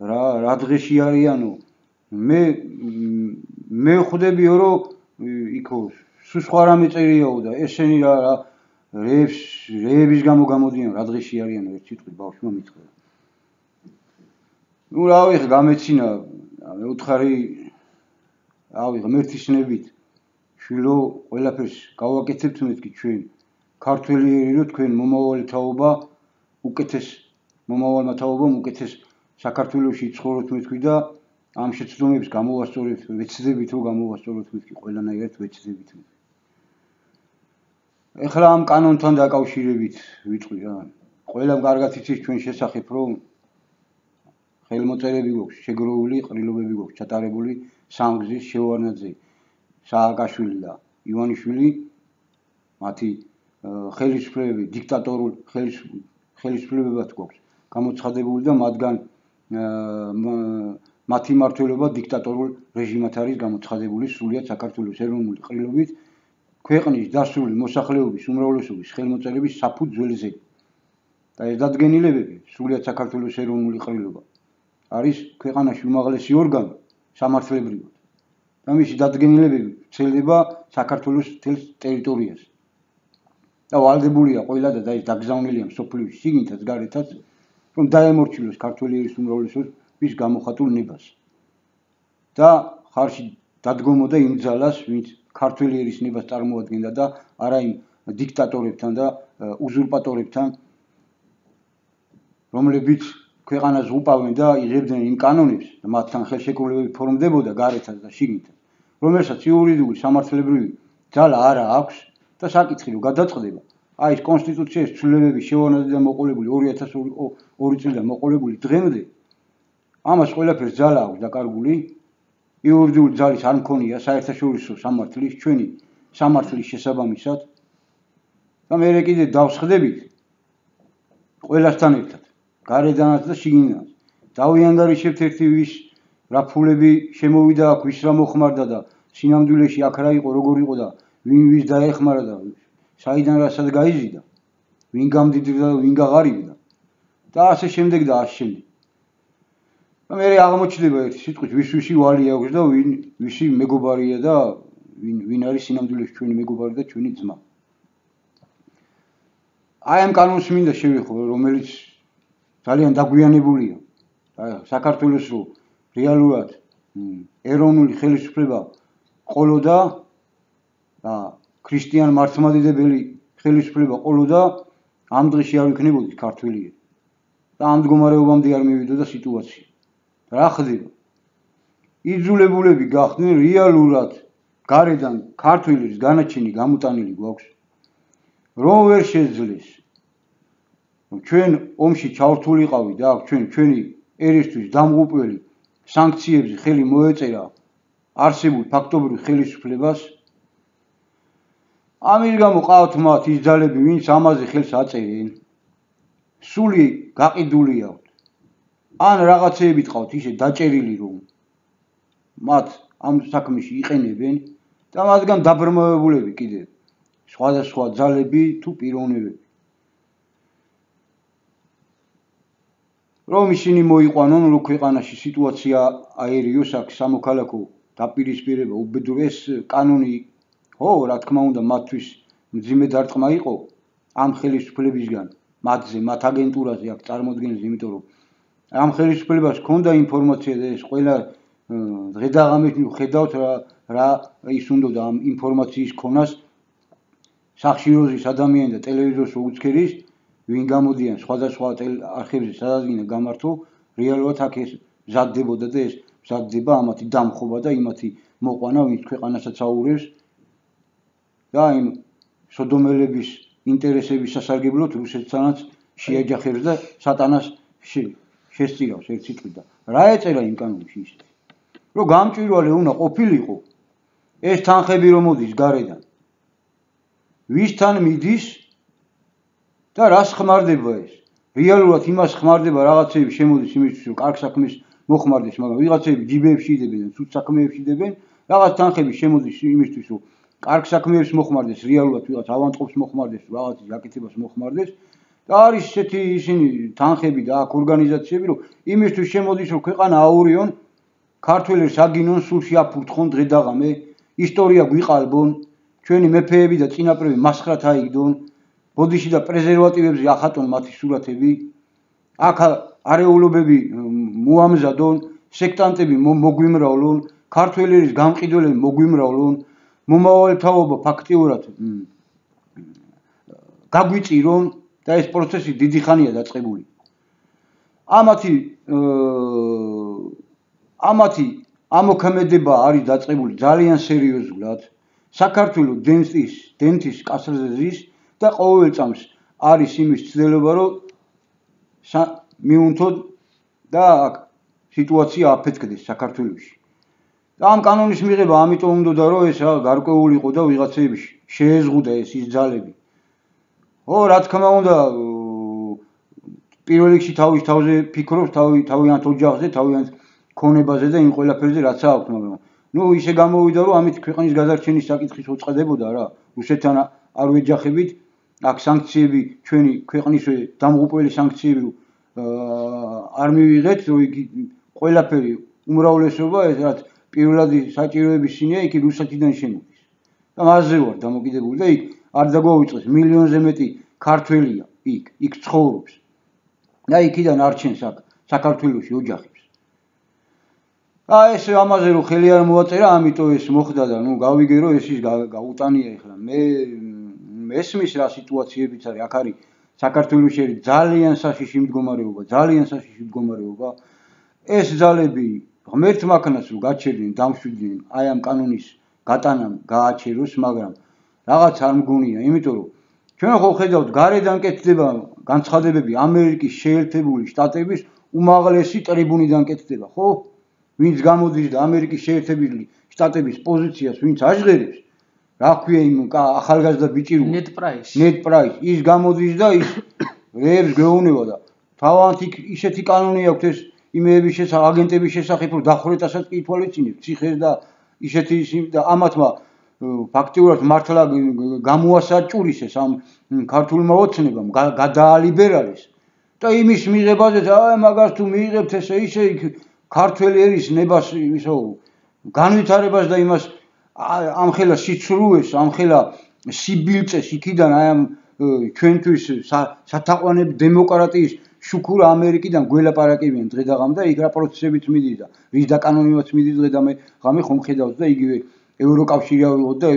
რა დღეში არიანო მე ხვდებიო რომ იქო სულ სხვა რამე წერიაო და ესენი რა რეების გამო გამოდიან რა დღეში არიანო ერთ სიტყვით ბავშვმა მითხრა. ნუ რავი ხა გამეცინა მეუთხარი რავი ღმერთისნებით შვილო ყველაფერს გავაკეთებთ მეთქი ჩვენ ქართველიერი რომ თქვენ მომავალი თაობა უკეთეს მომავალმა თაობამ უკეთეს საქართველოში ცხოვრობთ მეთქვი და ამ შეცდომებს გამოვასწორებთ ვეცდებით რომ გამოვასწოროთ მეთქი ყველანაირად ვეცდებით. ეხლა ამ კანონთან დაკავშირებით ვიტყვი რა. ყველამ კარგად იცის ჩვენ შესახებ რომ ხელმოწერები გვაქვს შეგროვული ყრილობები გვაქვს ჩატარებული სამგზის შევარნაძე სააკაშვილი და ივანიშვილი მათი ხელისუფლებები დიქტატორულ ხელისუფლებებად გვაქვს გამოცხადებული და მათგან მათი მმართველობა დიქტატორულ რეჟიმად არის გამოცხადებული სრულიად საქართველოს ეროვნული ყრილობით ქვეყნის დასული მოსახლეობის უმრავლესობის ხელმოწერების საფუძ ძველზე და ეს დადგენილებები სრულიად საქართველოს ეროვნული ყრილობა არის ქვეყანაში უმაღლესი ორგანო სამართლებრივად და მისი დადგენილებები ვრცელდება საქართველოს მთელ ტერიტორიაზე და ვალდებულია ყველა და ეს დაგზავნილია მსოფლიოში შიგნითაც გარეთაც რომ დაემორჩილოს ქართველიერის უმრავლესობის გამოხატულ ნებას და ხარში დადგომოდა იმ ძალას ვინც ქართველიერის ნებას წარმოადგენდა და არა იმ დიქტატორებთან და უზურპატორებთან რომლებიც ქვეყანას უპავენ და იღებდნენ იმ კანონებს და მათთან ხელშეკრულებები ფორმდებოდა გარეთაც და შიგნითაც რომელსაც იურიდიული სამართლებრივი ძალა არა აქვს და საკითხი რომ გადაწყდება აი ეს კონსტიტუციის ცვლილებების შევარნაძიდან მოყოლებული 2002 წლიდან მოყოლებული დღემდე ამას ყველაფერს ძალა აქვს დაკარგული იურიდიული ძალის არ მქონია საერთაშორისო სამართლის ჩვენი სამართლის შესაბამისად და მე კიდე დავსხდებით ყველასთან ერთად გარედანაც და შიგნიდანაც დავიანგარიშებთ ერთი ვის რა ფულები შემოვიდა აქ ვის რა მოხმარდა და სინამდვილეში აქ რა იყო როგორ იყო და ვინ ვის დაეხმარა და საიდან რასაც გაიზიდა ვინ გამდიდრდა და ვინ გაღარიბდა და ასე შემდეგ და ასე შემდეგ და მე აღმოჩნდება ერთი სიტყვით ვისი ვალი აქვს და ვისი მეგობარია და ვინ არის სინამდვილეში ჩვენი მეგობარი და ჩვენი ძმა. აი ამ კანონს მინდა შევეხო რომელიც ძალიან დაგვიანებულია საქართველოს რო რეალურად ეროვნული ხელისუფლება ყოლოდა და ქრისტიან მართლმადიდებელი ხელისუფლება ყოლოდა ამ დღეში არ ვიქნებოდით ქართველიერი და ამ მდგომარეობამდე არ მივიდოდა სიტუაცია. რა ხდება? იძულებულები გახდნენ რეალურად გარედან ქართველის განაჩენი გამოტანილი გვაქვს რომ ვერ შეძლეს ჩვენ ომში ჩავრთულიყავით და ჩვენი ერისთვის დამღუპველი სანქციებზე ხელი მოეწერა არსებულ ფაქტობრივ ხელისუფლებას ამის გამო ყავთ მათ ის ძალები ვინც ამაზე ხელს აწერენ სული გაყიდული აქვთ ან რაღაცეებით ყავთ ისე დაჭერილი რომ მათ ამ საქმეში იყენებენ და მათგან დაბრმავებულები კიდევ სხვადასხვა ძალები თუ პიროვნებები რომ ისინი მოიყვანონ რომ ქვეყანაში სიტუაცია აერიოს აქ სამოქალაქო დაპირისპირება უბედურეს კანონი ხო რა თქმა უნდა მათთვის მძიმე დარტყმა იყო ამ ხელისუფლებისგან მათზე მათ აგენტურაზე აქ წარმოადგენს იმიტომ რომ ამ ხელისუფლებას ჰქონდა ინფორმაცია და ეს ყველა დღე და ღამით ხედავთ რა ის უნდა ამ ინფორმაციის ქონას სახშიროზის ადამიანი და ტელევიზორს უცქერის, ვინ გამოდიან სხვადასხვა არხებზე, სადაც გინდა გამართო, რეალურად აქ ეს მზადდებოდა და ეს მზადდება ამათი დამხობა და იმათი მოყვანა, ვინც ქვეყანასაც აურევს და იმ სოდომელების ინტერესების სასარგებლოდ რუსეთთანაც შეაჯახებს და სატანას შესწირავს ერთ სიტყვით და რა ეწერა იმ კანონში ისე რომ გამჭვირვალე უნდა ყოფილიყო ეს თანხები რომ მოდის გარედან ვისთან მიდის და რას ხმარდება ეს რეალურად იმას ხმარდება რაღაცები შემოდის იმისთვის რომ კარგ საქმეს მოხმარდეს მაგრამ ვიღაცები ჯიბეებში იდებენ და ცუდ საქმეებში იდებენ რაღაც თანხები შემოდის იმისთვის რომ კარგ საქმეებს მოხმარდეს რეალურად ვიღაც ავანტყოფს მოხმარდეს რაღაც გაკეთებას მოხმარდეს და არის ესეთი ისინი თანხები და აქ ორგანიზაციები რომ იმისთვის შემოდის რომ ქვეყანა აურიონ ქართველებს აგინონ სულში აფურთხონ დღე და ღამე ისტორია გვიყალბონ ჩვენი მეფეები და წინაპრები მასხრად აიგდონ ბოდიში და პრეზერვატივებზე ახატონ მათი სურათები აქ არეულობები მოამზადონ სექტანტები მოგვიმრავლონ ქართველების გამყიდველები მოგვიმრავლონ მომავალი თაობა ფაქტიურად გაგვიწირონ და ეს პროცესი დიდი ხანია დაწყებული ამათი ამოქმედება არის დაწყებული ძალიან სერიოზულად საქართველოს დენთის კასრზე ზის და ყოველ წამს არის იმის ცდილება რომ მიუნთონ და სიტუაცია აფეთქდეს საქართველოში და ამ კანონის მიღება ამიტომ უნდოდა რომ ეს გარკვეული იყო და ვიღაცები შეეზღუდა ეს ის ძალები ო რა თქმა უნდა პირველ რიგში თავის თავზე ფიქრობს თავიანთ ოჯახზე თავიანთ ქონებაზე და იმ ყველაფერზე რაც აქვს მაგრამ ნუ ისე გამოვიდა რომ ამით ქვეყნის გადარჩენის საკითხის უწყდებოდა რა რუსეთთან არ ვეჯახებით აქ სანქციები ჩვენი ქვეყნის დამღუპველი სანქციები არ მივიღეთ რომ იგი ყველაფერი უმრავლესობა ეს რაც პირველადი საჭიროების შინია იქ რუსეთიდან შემოდის და მასზე ვარ დამოკიდებული და იქ არ დაგვაუწყეს მილიონზე მეტი ქართველია იქ ცხოვრობს და იქიდან არჩენს აქ საქართველოში ოჯახებს და ეს ამაზე რომ ხელი არ მოაწერა ამიტომ ეს მოხდა და ნუ გავიგე რომ ეს ის გაუტანია ეხლა მე ესმის რა სიტუაციებიც არის აქ არის საქართველოში ძალიან საშიში მდგომარეობა ეს ძალები ღმერთ მაქნას რომ გაჩერდნენ დამშვიდნენ აი ამ კანონის გატანამ გააჩეროს მაგრამ რაღაც არ მგონია იმიტომ რომ ჩვენ ხო ხედავთ გარედან კეთდება განცხადებები ამერიკის შეერთებული შტატების უმაღლესი ტრიბუნიდან კეთდება ხო ვინც გამოდის და ამერიკის შეერთებული შტატების პოზიციას ვინც აჟღერებს რა ქვია იმ ახალგაზრდა ბიჭი ნეტ პრაის ის გამოდის და ის რეებს გვეუბნება და თავად იქ ისეთი კანონი აქვს ეს იმეების აგენტების შესახებ რომ დახვრეტასაც კი ითვალისწინებს ციხეს და ისეთი და ამათმა ფაქტიურად მართლა გამოასაჭურისეს ამ ქართულმა ოცნებამ გადაალიბერალეს და იმის მიღებაზე აი მაგას თუ მიიღებთ ესე ისე იქ ქართველი ერის ნებას ისო განვითარებას და იმას ამხელა სიცრუეს ამხელა სიბილწეს იქიდან აი ამ ჩვენთვის სათაყვანებ დემოკრატიის შუქურა ამერიკიდან გველაპარაკებიან დღე და ღამე და იქ რა პროცესებიც მიდის და რის დაკანონებაც მიდის დღე და ღამე ხომ ხედავს და იგივე ევროკავშირი ავიღოთ და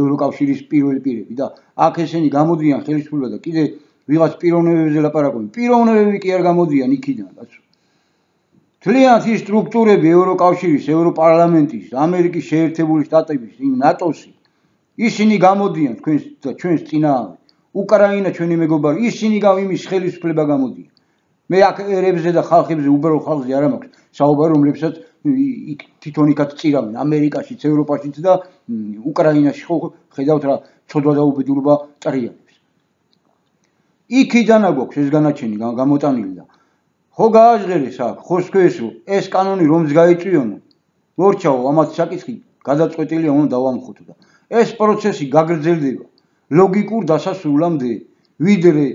ევროკავშირის პირველი პირები და აქ ესენი გამოდიან ხელისუფლება და კიდე ვიღაც პიროვნებებზე ლაპარაკობენ პიროვნებები კი არ გამოდიან იქიდან კაცო თლიანად ის სტრუქტურები ევროკავშირის ევროპარლამენტის ამერიკის შეერთებული შტატების იმ ნატოსი ისინი გამოდიან ჩვენს წინააღმდეგ უკრაინა ჩვენი მეგობარი ისინი იმის ხელისუფლება გამოდიან მე აქ ერებზე და ხალხებზე უბრალოდ ხალხზე არ მაქვს საუბარი რომლებსაც თვითონ იქაც წირავენ ამერიკაშიც ევროპაშიც და უკრაინაში ხო ხედავთ რა ცოდვა და უბედურება ტრიალებს იქიდან აგვაქვს ეს განაჩენი გამოტანილი და ხო გააჟღერეს აქ ხო სქვეს რომ ეს კანონი რომს გაიწვიონო მორჩაო ამათ საკითხი გადაწყვეტილია უნდა დავამხოთ და ეს პროცესი გაგრძელდება ლოგიკურ დასასრულამდე ვიდრე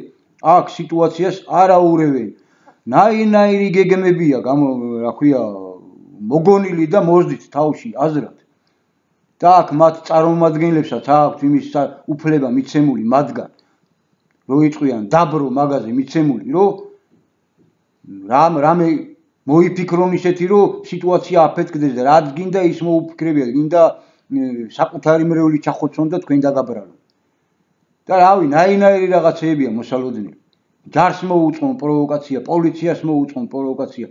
აქ სიტუაციას არ აურევენ ნაირ-ნაირი გეგმებია რა ქვია მოგონილი და მოძდით თავში აზრად და აქ მათ წარმომადგენლებსაც აქვს იმის უფლება მიცემული მათგან რო იწვიან დაბრო მაღაზე მიცემული რომ რამე მოიფიქრონ ისეთი რომ სიტუაცია აფეთქდეს და რაც გინდა ის მოუფიქრებიათ გინდა საკუთარი მრევლი ჩახოცონ და თქვენ დაგაბრალონ და რავი, ნაირ-ნაირი რაღაცეებია მოსალოდნელი. ჯარს მოუწყონ პროვოკაცია, პოლიციას მოუწყონ პროვოკაცია.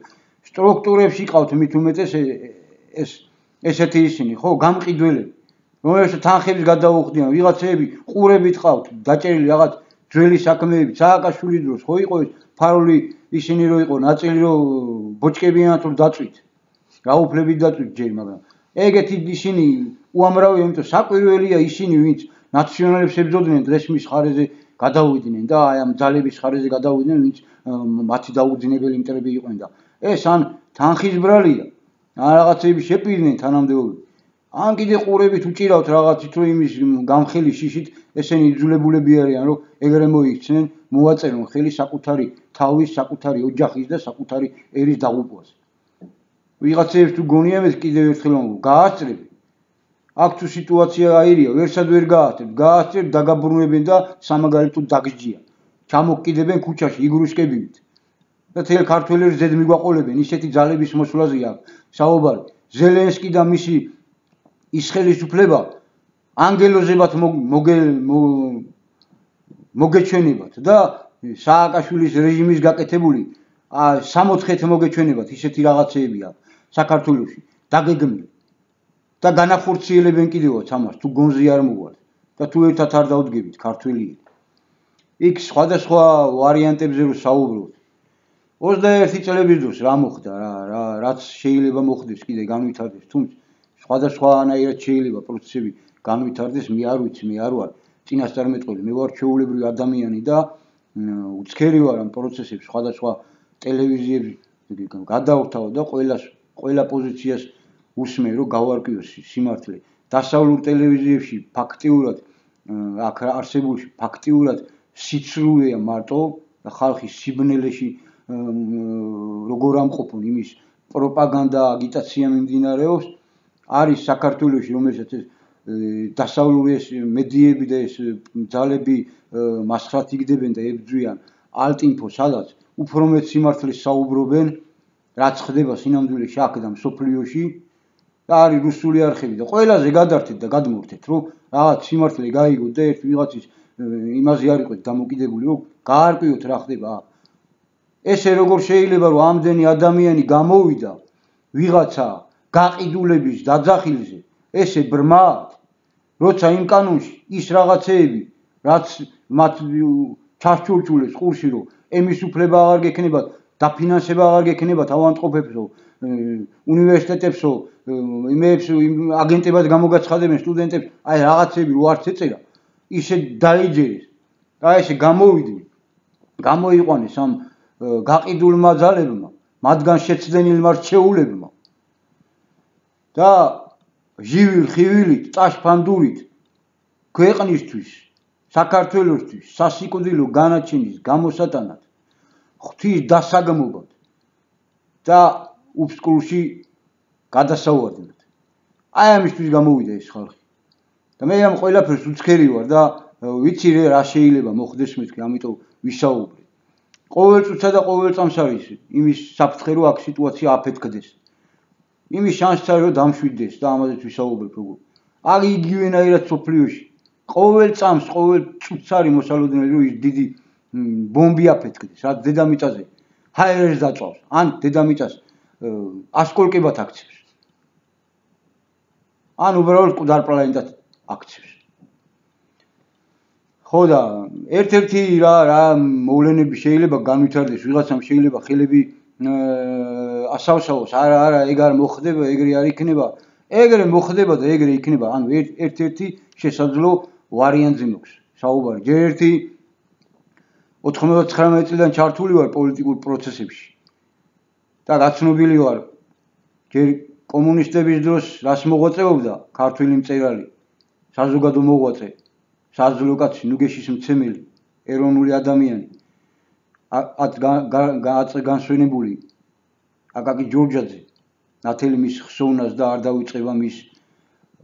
სტრუქტურებში ყავთ მით უმეტეს ესეთი ისინი, ხო, გამყიდველები, რომელსაც თანხების გადაუხდიან, ვიღაცეები ყურებით ყავთ, დაჭერილი რაღაც ძველი საქმეები, სააკაშვილის დროს ხო იყო ეს ფარული ისინი რო იყო ნაწილი რო ბოჭკებიანად რო დაწვით. გაუფლებით დაწვით ჯერ, მაგრამ ეგეთი ისინი უამრავი, იმიტომ საკვირველია ისინი, ვინც ნაციონალებს ებრძოდნენ დრესმის ხარეზე გადავიდნენ და აი ამ ძალების ხარეზე გადავიდნენ, ვინც მათი დაუძინებელი მტრები იყვნენ და ეს ან თანხის ბრალია, ან რაღაცები შეპირდნენ თანამდებობები. ან კიდე ყურებით უჭირავთ რაღაცით, რომ იმის გამხელი შიშით ესენი იძულებულები არიან, რომ ეგრე მოიქცნენ, მოვაწერონ ხელი საკუთარი თავის, საკუთარი ოჯახის და საკუთარი ერის დაღუპვაზე. ვიღაცებს თუ გონიათ ეს კიდევ ერთხელ გაასწრებ. აქ თუ სიტუაცია აირია, ვერსად ვერ გაასწრებ, დაგაბრუნებენ და სამაგალითოდ დაგსჯიან. ჩამოგკიდებენ ქუჩაში იგრუშკებით. და თელ ქართველებს ზედ მიგვაყოლებენ, ისეთი ძალების მოსვლაზე აქვს საუბარი. ზელენსკი და მისი ის ხელისუფლება ანგელოზებად მოგეჩვენებათ და სააკაშვილის რეჟიმის გაკეთებული 60 მოგეჩვენებათ, ისეთი რაღაცეებია საქართველოში დაგეგმილი. და განახორციელებენ კიდევაც ამას, თუ გონზე არ მოვალთ და თუ ერთად არ დავდგებით ქართველიები. იქ სხვადასხვა ვარიანტებზე რო საუბრობთ. 21 წლების დროს რა მოხდა, რაც შეიძლება მოხდეს კიდე განვითარდეს, თუმცა სხვადასხვანაირად შეიძლება პროცესები განვითარდეს, მე არ ვიცი, მე არ ვარ წინასწარმეტყველი, მე ვარ ჩვეულებრივი ადამიანი და უცქერი ვარ ამ პროცესებს სხვადასხვა ტელევიზიებში გადავთავ და ყველა პოზიციას უსმენ, რომ გავარკვიოს სიმართლე. დასავლურ ტელევიზიებში ფაქტიურად აქ არსებულში ფაქტიურად სიცრუეა მარტო და ხალხი სიბნელეში როგორ ამყოფონ იმის პროპაგანდა, აგიტაცია მიმდინარეობს. არის საქართველოში, რომელსაც ეს დასავლური ეს მედიები და ეს ძალები მასხრად იგდებენ და ებრძვიან ალტინფო, სადაც უფრო მეტ სიმართლეს საუბრობენ, რაც ხდება სინამდვილეში აქ და მსოფლიოში და არის რუსული არხები და ყველაზე გადართეთ და გადმორთეთ, რომ რაღაც სიმართლე გაიგოთ და ერთ ვიღაცის იმაზე არ იყოთ დამოკიდებული, რომ გაარკვიოთ რა ხდება. ესე როგორ შეიძლება, რომ ამდენი ადამიანი გამოვიდა ვიღაცა გაყიდულების დაძახილზე, ესე ბრმად, როცა იმ კანონში ის რაღაცეები, რაც მათ ჩასჩურჩულეს ყურში, რომ ემის უფლება აღარ გექნებათ, დაფინანსება აღარ გექნებათ ავადმყოფებსო, უნივერსიტეტებსო, იმებს აგენტებად გამოგაცხადებენ სტუდენტებს, აი რაღაცები რო არც ეწერა, ისე დაიჯერეს. და ესე გამოვიდნენ, გამოიყვანეს ამ გაყიდულმა ძალებმა, მათგან შეცდენილმა რჩეულებმა. და ჟივილ ხივილით, წაშფანდურით ქვეყნისთვის, საქართველოსთვის სასიკვდილო განაჩენის გამოსატანად, ღვთის დასაგმობად და უფსკულში გადასავარდნად. აი ამისთვის გამოვიდა ეს ხალხი. და მე ამ ყველაფერს უცქერი ვარ და ვიცი რა შეიძლება მოხდეს მეთქი, ამიტომ ვისაუბრე. ყოველ წუთსა და ყოველ წამს არის იმის საფრთხე, რომ აქ სიტუაცია აფეთქდეს. იმის შანსიც არის, რომ დამშვიდდეს და ამაზეც ვისაუბრებ როგორ. აქ იგივენაირად სოფლიოში. ყოველ წამს, ყოველ წუთს არის მოსალოდნელი, რომ ის დიდი ბომბი აფეთქდეს, რაც დედამიწაზე ჰაერებს დაწვავს, ან დედამიწას ასკოლკებად აქცევს. ან უბრალოდ მკვდარ პლანეტად აქცევს. ხო და ერთ-ერთი რა მოვლენები შეიძლება განვითარდეს, ვიღაცამ შეიძლება ხელები ასავსაოს, არა, ეგ არ მოხდება, ეგრე არ იქნება, ეგრე მოხდება და ეგრე იქნება. ანუ ერთ-ერთი შესაძლო ვარიანტზე მოქვს საუბარი. ჯერ ერთი 99 წლიდან ჩართული ვარ პოლიტიკურ პროცესებში და გაცნობილი ვარ ჯერ კომუნისტების დროს რას მოღვაწეობდა ქართველი მწერალი, საზოგადო მოღვაწე, საზღვრო კაცი, ნუგეშის მცემელი, ეროვნული ადამიანი, განსვენებული აკაკი ჯორჯაძე, ნათელი მის ხსოვნას და არ დავიწყება მის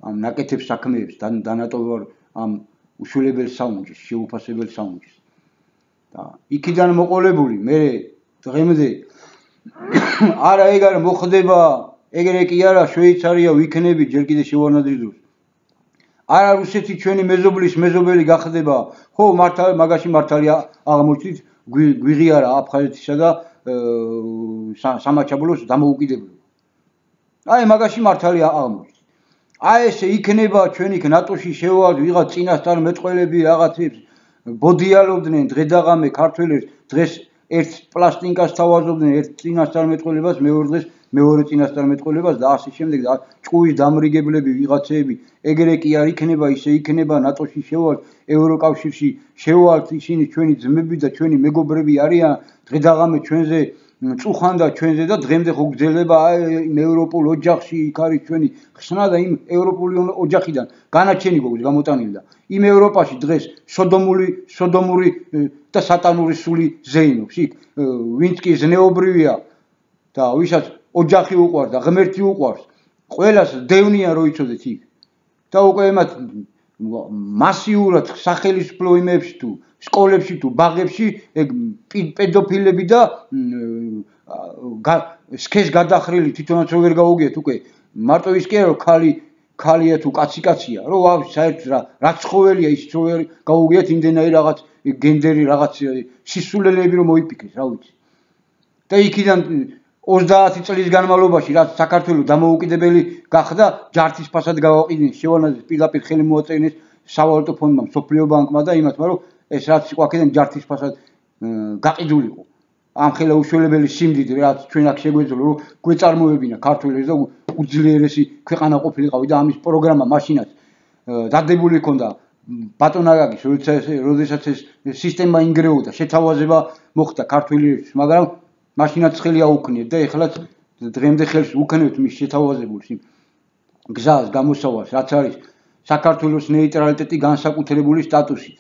ამ ნაკეთებ საქმეებს, დანატოვარ ამ უშულებელ საუნჯის, შეუფასებელ საუნჯის. და იქიდან მოყოლებული მე დღემდე არა ეგ არ მოხდება, ეგრე კი არა, შვეიცარია ვიქნები ჯერ კიდე შევარნაძის დროს. არა რუსეთი ჩვენი მეზობლის მეზობელი გახდება, ხო მაგაში მართალი აღმოჩნდით გვიღიარა აფხაზეთისა და სამაჩაბლოს დამოუკიდებლობა. აი მაგაში მართალი აღმოჩნდით. აი ესე იქნება ჩვენ იქ ნატოში შევავთ ვიღაც წინასწარ მეწყვილები რაღაცებს ბოდიალობდნენ დღედაღამე ქართველებს დღეს ერთ პლასტინკას თავაზობდნენ ერთ წინასწარ მეტყველებას მეორე დღეს მეორე წინასწარ მეტყველებას და ასე შემდეგ და ჭკუის დამრიგებლები ვიღაცეები ეგრე კი არ იქნება ისე იქნება ნატოში შევავთ ევროკავშირში შევავთ ისინი ჩვენი ძმები და ჩვენი მეგობრები არიან დღედაღამე ჩვენზე წუხან და ჩვენზე და დღემდე ხო გძელება იმ ევროპულ ოჯახში იქ არის ჩვენი ხსნა და იმ ევროპული ოჯახიდან განაჩენი გვაქვს გამოტანილი და იმ ევროპაში დღეს სოდომური და სატანური სული ზეინობს იქ ვინც კი ზნეობრივია და ვისაც ოჯახი უყვარს და ღმერთი უყვარს ყველას დევნიან რო იცოდეთ იქ და უკვე ემათ მასიურად სახელმწიფო იმებში თუ სკოლებში თუ ბაღებში ეგ პედოფილები და სქეს გადახრილი თვითონაც რო ვერ გაუგიათ უკვე მარტო ის კი არა რომ ქალია თუ კაცია რომ საერთოდ რა ცხოველია ის რო ვერ გაუგიათ იმდენაი რაღაც გენდერი რაღაც სისულელეები რომ მოიფიქრეს რა ვიცი და იქიდან 30 წლის განმავლობაში რაც საქართველოს დამოუკიდებელი გახდა ჯართის ფასად გავაყიდნენ შევანაძეს პირდაპირ ხელი მოაწერინეს სავალუტო ფონდმა მსოფლიო ბანკმა და იმათმა რომ ეს რაც იყო აქედან ჯართის ფასად გაყიდულიყო ამ ხელა უშველებელი სიმდიდრე რაც ჩვენ აქ შეგვეძლო რომ გვეწარმოებინა ქართველებს და უძლიერესი ქვეყანა ყოფილიყავი და ამის პროგრამა მაშინაც დადებული ჰქონდა ბატონაგაგის როდესაც ეს სისტემა ინგრეოდა შეთავაზება მოხდა ქართველებს მაგრამ მაშინაც ხელი აუქნიეთ და ეხლაც დღემდე ხელს უქნევთ მის შეთავაზებულს იმ გზას გამოსავალს რაც არის საქართველოს ნეიტრალიტეტი განსაკუთრებული სტატუსით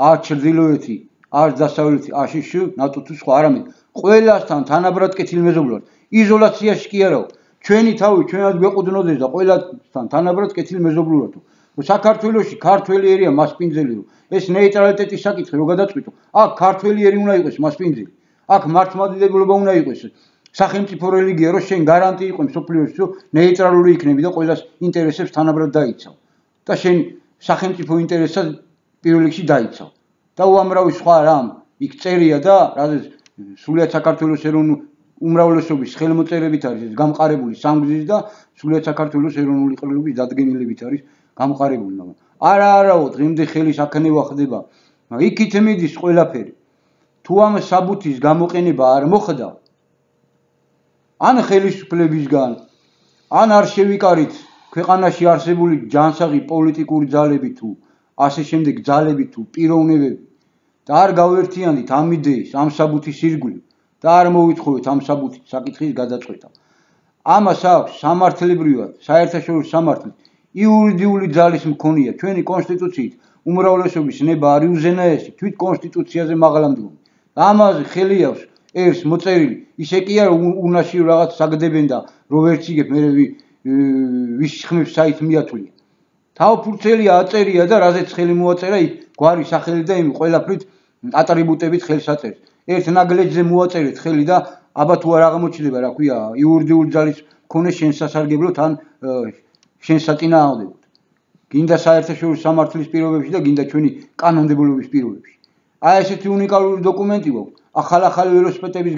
არც ჩრდილოეთი არც დასავლეთი აშშ ნატო თუ სხვა არამედ ყველასთან თანაბრად კეთილმეზობლად იზოლაციაში კი არაო ჩვენი თავი ჩვენად გვეყუდნოდეს და ყველასთან თანაბრად კეთილმეზობლურადო საქართველოში ქართველიერია მასპინძელი რომ ეს ნეიტრალიტეტის საკითხი რო გადაწყვიტო აქ ქართველიერი უნდა იყოს მასპინძელი აქ მართლმადიდებლობა უნდა იყოს სახელმწიფო რელიგია რომ შენ გარანტი იყო მსოფლიოში რომ ნეიტრალური იქნები და ყველას ინტერესებს თანაბრად დაიცავ და შენ სახელმწიფო ინტერესად პირველ რიგში დაიცავ და უამრავი სხვა რამ იქ წერია და რადგან სულიად საქართველოს ეროვნული უმრავლესობის ხელმოწერებით არის გამყარებული სამგზის და სულიად საქართველოს ეროვნული ყრილობის დადგენილებით არის გამყარებული მაგრამ არაო დღემდე ხელის აქნევა ხდება იქით მიდის ყველაფერი თუ ამ საბუთის გამოყენება არ მოხდა ან ხელისუფლებისგან ან არ შევიკარით ქვეყანაში არსებული ჯანსაღი პოლიტიკური ძალები თუ ასე შემდეგ ძალები თუ პიროვნებები და არ გავერთიანდით ამ იდეის ამ საბუთის ირგვლივ და არ მოვითხოვეთ ამ საბუთის საკითხის გადაწყვეტა ამას აქვს სამართლებრივად საერთაშორისო სამართლით იურიდიული ძალის მქონია ჩვენი კონსტიტუციით უმრავლესობის ნება არ იუზენაესი თვით კონსტიტუციაზე მაღლამდგომი ამაზე ხელი აქვს ერს მოწერილი ისე კი არა უნაში რაღაც საგდებენ და რო ვერც იგებ მე ვის ხმებს საით მიათვლია თავფურცელია აწერია და რაზეც ხელი მოაწერა იქ გვარი სახელი და იმ ყველაფრით ატრიბუტებით ხელს აწერს ერთ ნაგლეჯზე მოაწერეთ ხელი და აბა თუ არ აღმოჩნდება რა ქვია იურიდიული ძალის მქონე შენ სასარგებლოდ ან შენ საწინააღმდეგოდ გინდა საერთაშორისო სამართლის პირობებში და გინდა ჩვენი კანონმდებლობის პირობებში აი ესეთი უნიკალური დოკუმენტი გვაქვს ახალ ველოსიპედების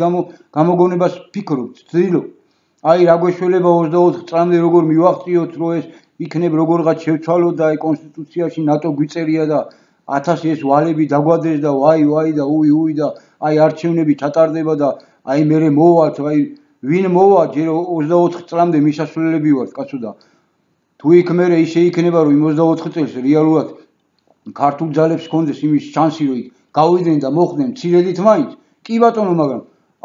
გამოგონებას ფიქრობთ ცდილობ აი რა გვეშველება 24 წლამდე როგორ მივაღწიოთ რომ ეს იქნებ როგორღაც შევცვალოთ და აი კონსტიტუციაში ნატო გვიწერია და 1000 ეს ვალები დაგვადეს და ვაი და უი და აი არჩევნები ჩატარდება და აი მე მოვალთ აი ვინ მოვა ჯერ 24 წლამდე მისასვლელები ვართ კაცო და თუ იქ მე ისე იქნება რომ 24 წელს რეალურად ქართულ ძალებს ჰქონდეს იმის შანსი რომ გავიდნენ და მოხდნენ მცირედით მაინც კი ბატონო მაგრამ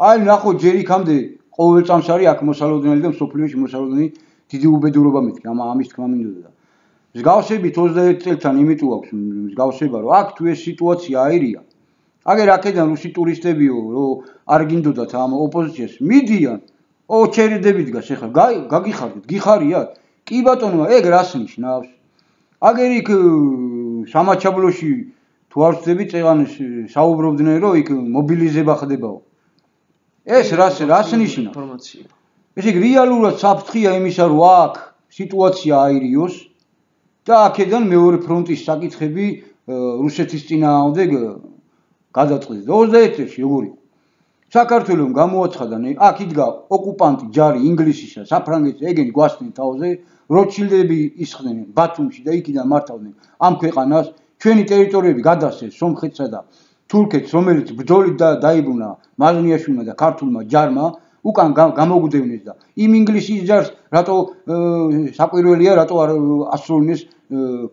აი ნახო ჯერ იქამდე ყოველ წამს არის აქ მოსალოდნელი და მსოფლიოში მოსალოდნელი დიდი უბედურობა მეთქი ამის თქმა მინდოდა და მსგავსებით 21 წელთან იმიტომ აქვს მსგავსება რომ აქ თუ ეს სიტუაცია აირია აგერ აქედან რუსი ტურისტებიო რომ არ გინდოდათ ამ ოპოზიციას მიდიან ოჩერიდები დგას ეხლა გაგიხარდით გიხარიათ კი ბატონო ეგ რას ნიშნავს აგერ იქ სამაჩაბლოში თუ არ ვწდები წეღანს საუბრობდნენ რომ იქ მობილიზება ხდებაო ეს რას ნიშნავს ინფორმაცია ესე იგი რეალურად საფრთხეა იმისა რომ აქ სიტუაცია აირიოს და აქედან მეორე ფრონტის საკითხები რუსეთის წინააღმდეგ გადაწყდეს. 21 წელს როგორ იყო? საქართველოს გამოაცხადა, აქ იდგა ოკუპანტი ჯარი ინგლისისა, საფრანგეთის, ეგენი გვასწნენ თავზე, როთშილდები ისხდნენ ბათუმში და იქიდან მართავდნენ ამ ქვეყანას, ჩვენი ტერიტორიები გადასცეს სომხეთსა და თურქეთს, რომელიც ბრძოლით დაიბრუნა მაზნიაშვილმა და ქართულმა ჯარმა, უკან გამოგვდევნეს და იმ ინგლისის ჯარს რატო საკვირველია, რატო არ ასრულინეს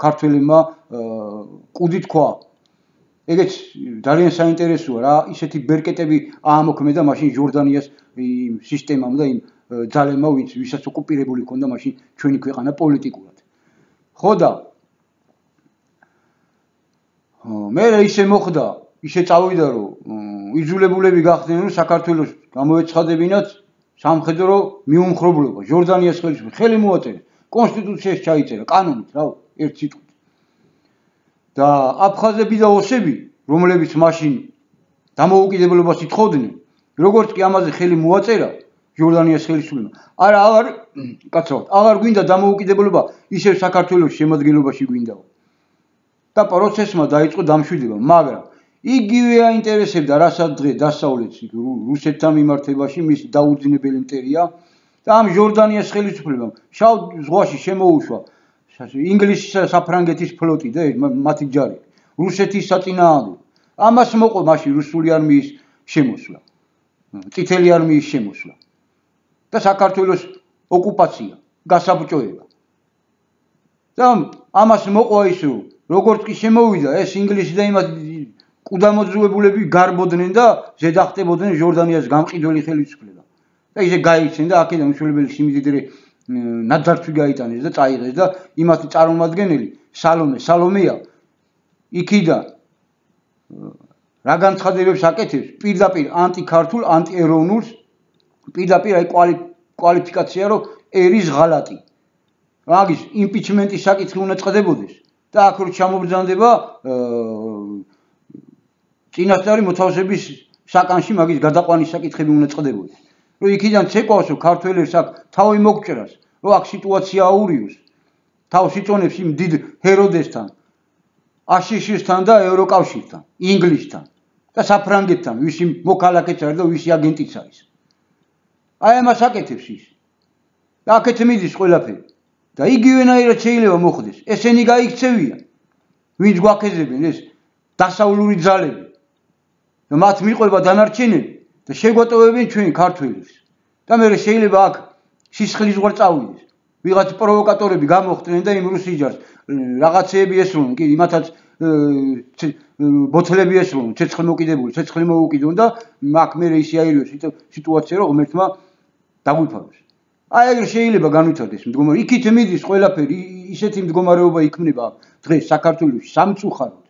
ქართველებმა კუდით ქვა. ეგეც ძალიან საინტერესოა რა, ისეთი ბერკეტები აამოქმედა მაშინ ჟორდანიას იმ სისტემამ და იმ ძალებმა, ვისაც ოკუპირებული ჰქონდა მაშინ ჩვენი ქვეყანა პოლიტიკურად. ხო და მე ისე მოხდა, ისე წავიდა, რომ იძულებულები გახდნენ, რომ საქართველოს გამოეცხადებინათ სამხედრო მიუმხრობლობა, ჟორდანიას ხელისუფლება, ხელი მოაწერეს, კონსტიტუციაში ჩაიწერა, კანონით, რა, ერთ სიტყვით. და აფხაზები და ოსები, რომლებიც მაშინ დამოუკიდებლობას ითხოვდნენ, როგორც კი ამაზე ხელი მოაწერა ჟორდანიას ხელისუფლებამ, აღარ გვინდა დამოუკიდებლობა, ისევ საქართველოს შემადგენლობაში გვინდაო. და პროცესმა დაიწყო დამშვიდება, მაგრამ იგივე აინტერესებდა რასაც დღეს დასავლეთს რუსეთთან მიმართებაში მისი დაუძინებელი მტერია და ამ ჟორდანიას ხელისუფლებამ შავ ზღვაში შემოუშვა ინგლისისა და საფრანგეთის ფლოტი და მათი ჯარი რუსეთის საწინააღმდეგო. ამას მოყვა მაშინ რუსული არმიის შემოსვლა, წითელი არმიის შემოსვლა და საქართველოს ოკუპაცია, გასაბჭოება. და ამას მოყვა ის, როგორც კი შემოვიდა ეს ინგლისი და იმათ კუდამოძუებულები გარბოდნენ და ზედახტებოდნენ ჟორდანიას გამყიდველი ხელისუფლება. და ისე გაიქცნენ და აქედან უშველებელი სიმდიდრე ნაძარცვი გაიტანეს და წაიღეს და იმათი წარმომადგენელი სალომეა იქიდან რა განცხადებებს აკეთებს პირდაპირ ანტიქართულ, ანტიეროვნულს, პირდაპირ აი კვალიფიკაცია, რომ ერის ღალატი. მაგის იმპიჩმენტის საკითხი უნდა წყდებოდეს და აქ რო ჩამობრძანდება წინასწარი მოთავსების საკანში მაგის გადაყვანის საკითხები უნდა წყდებოდეს. რომ იქიდან ცეკვავს, რომ ქართველებს აქ თავი მოგჭრას, რომ აქ სიტუაცია აურიოს, თავს იწონებს იმ დიდ ჰეროდესთან, აშიშისთან და ევროკავშირთან, ინგლისთან და საფრანგეთთან, ვისი მოქალაქეც არის და ვისი აგენტიც არის. აი ამას აკეთებს ის. და აქეთ მიდის ყველაფერი. და იგივენაირად შეიძლება მოხდეს. ესენი გაიქცევიან, ვინც გვაქეზებენ ეს დასავლური ძალები. და მათ მიყვება დანარჩენები და შეგვატოვებენ ჩვენი ქართველებს. და მე შეიძლება აქ სისხლის ზღვარ წავიდეს. ვიღაც პროვოკატორები გამოხდნენ და იმ რუსი ჯარს რაღაცეები ესროლნენ, კი იმათაც ბოთლები ესროლნენ, ცეცხლი მოუკიდონ და აქ მე ისე აირიოს სიტუაცია, რომ ღმერთმა დაგვიფაროს. აი ეგრე შეიძლება განვითარდეს მდგომარეობა. იქით მიდის ყველაფერი, ისეთი მდგომარეობა იქმნება დღეს საქართველოში სამწუხაროდ.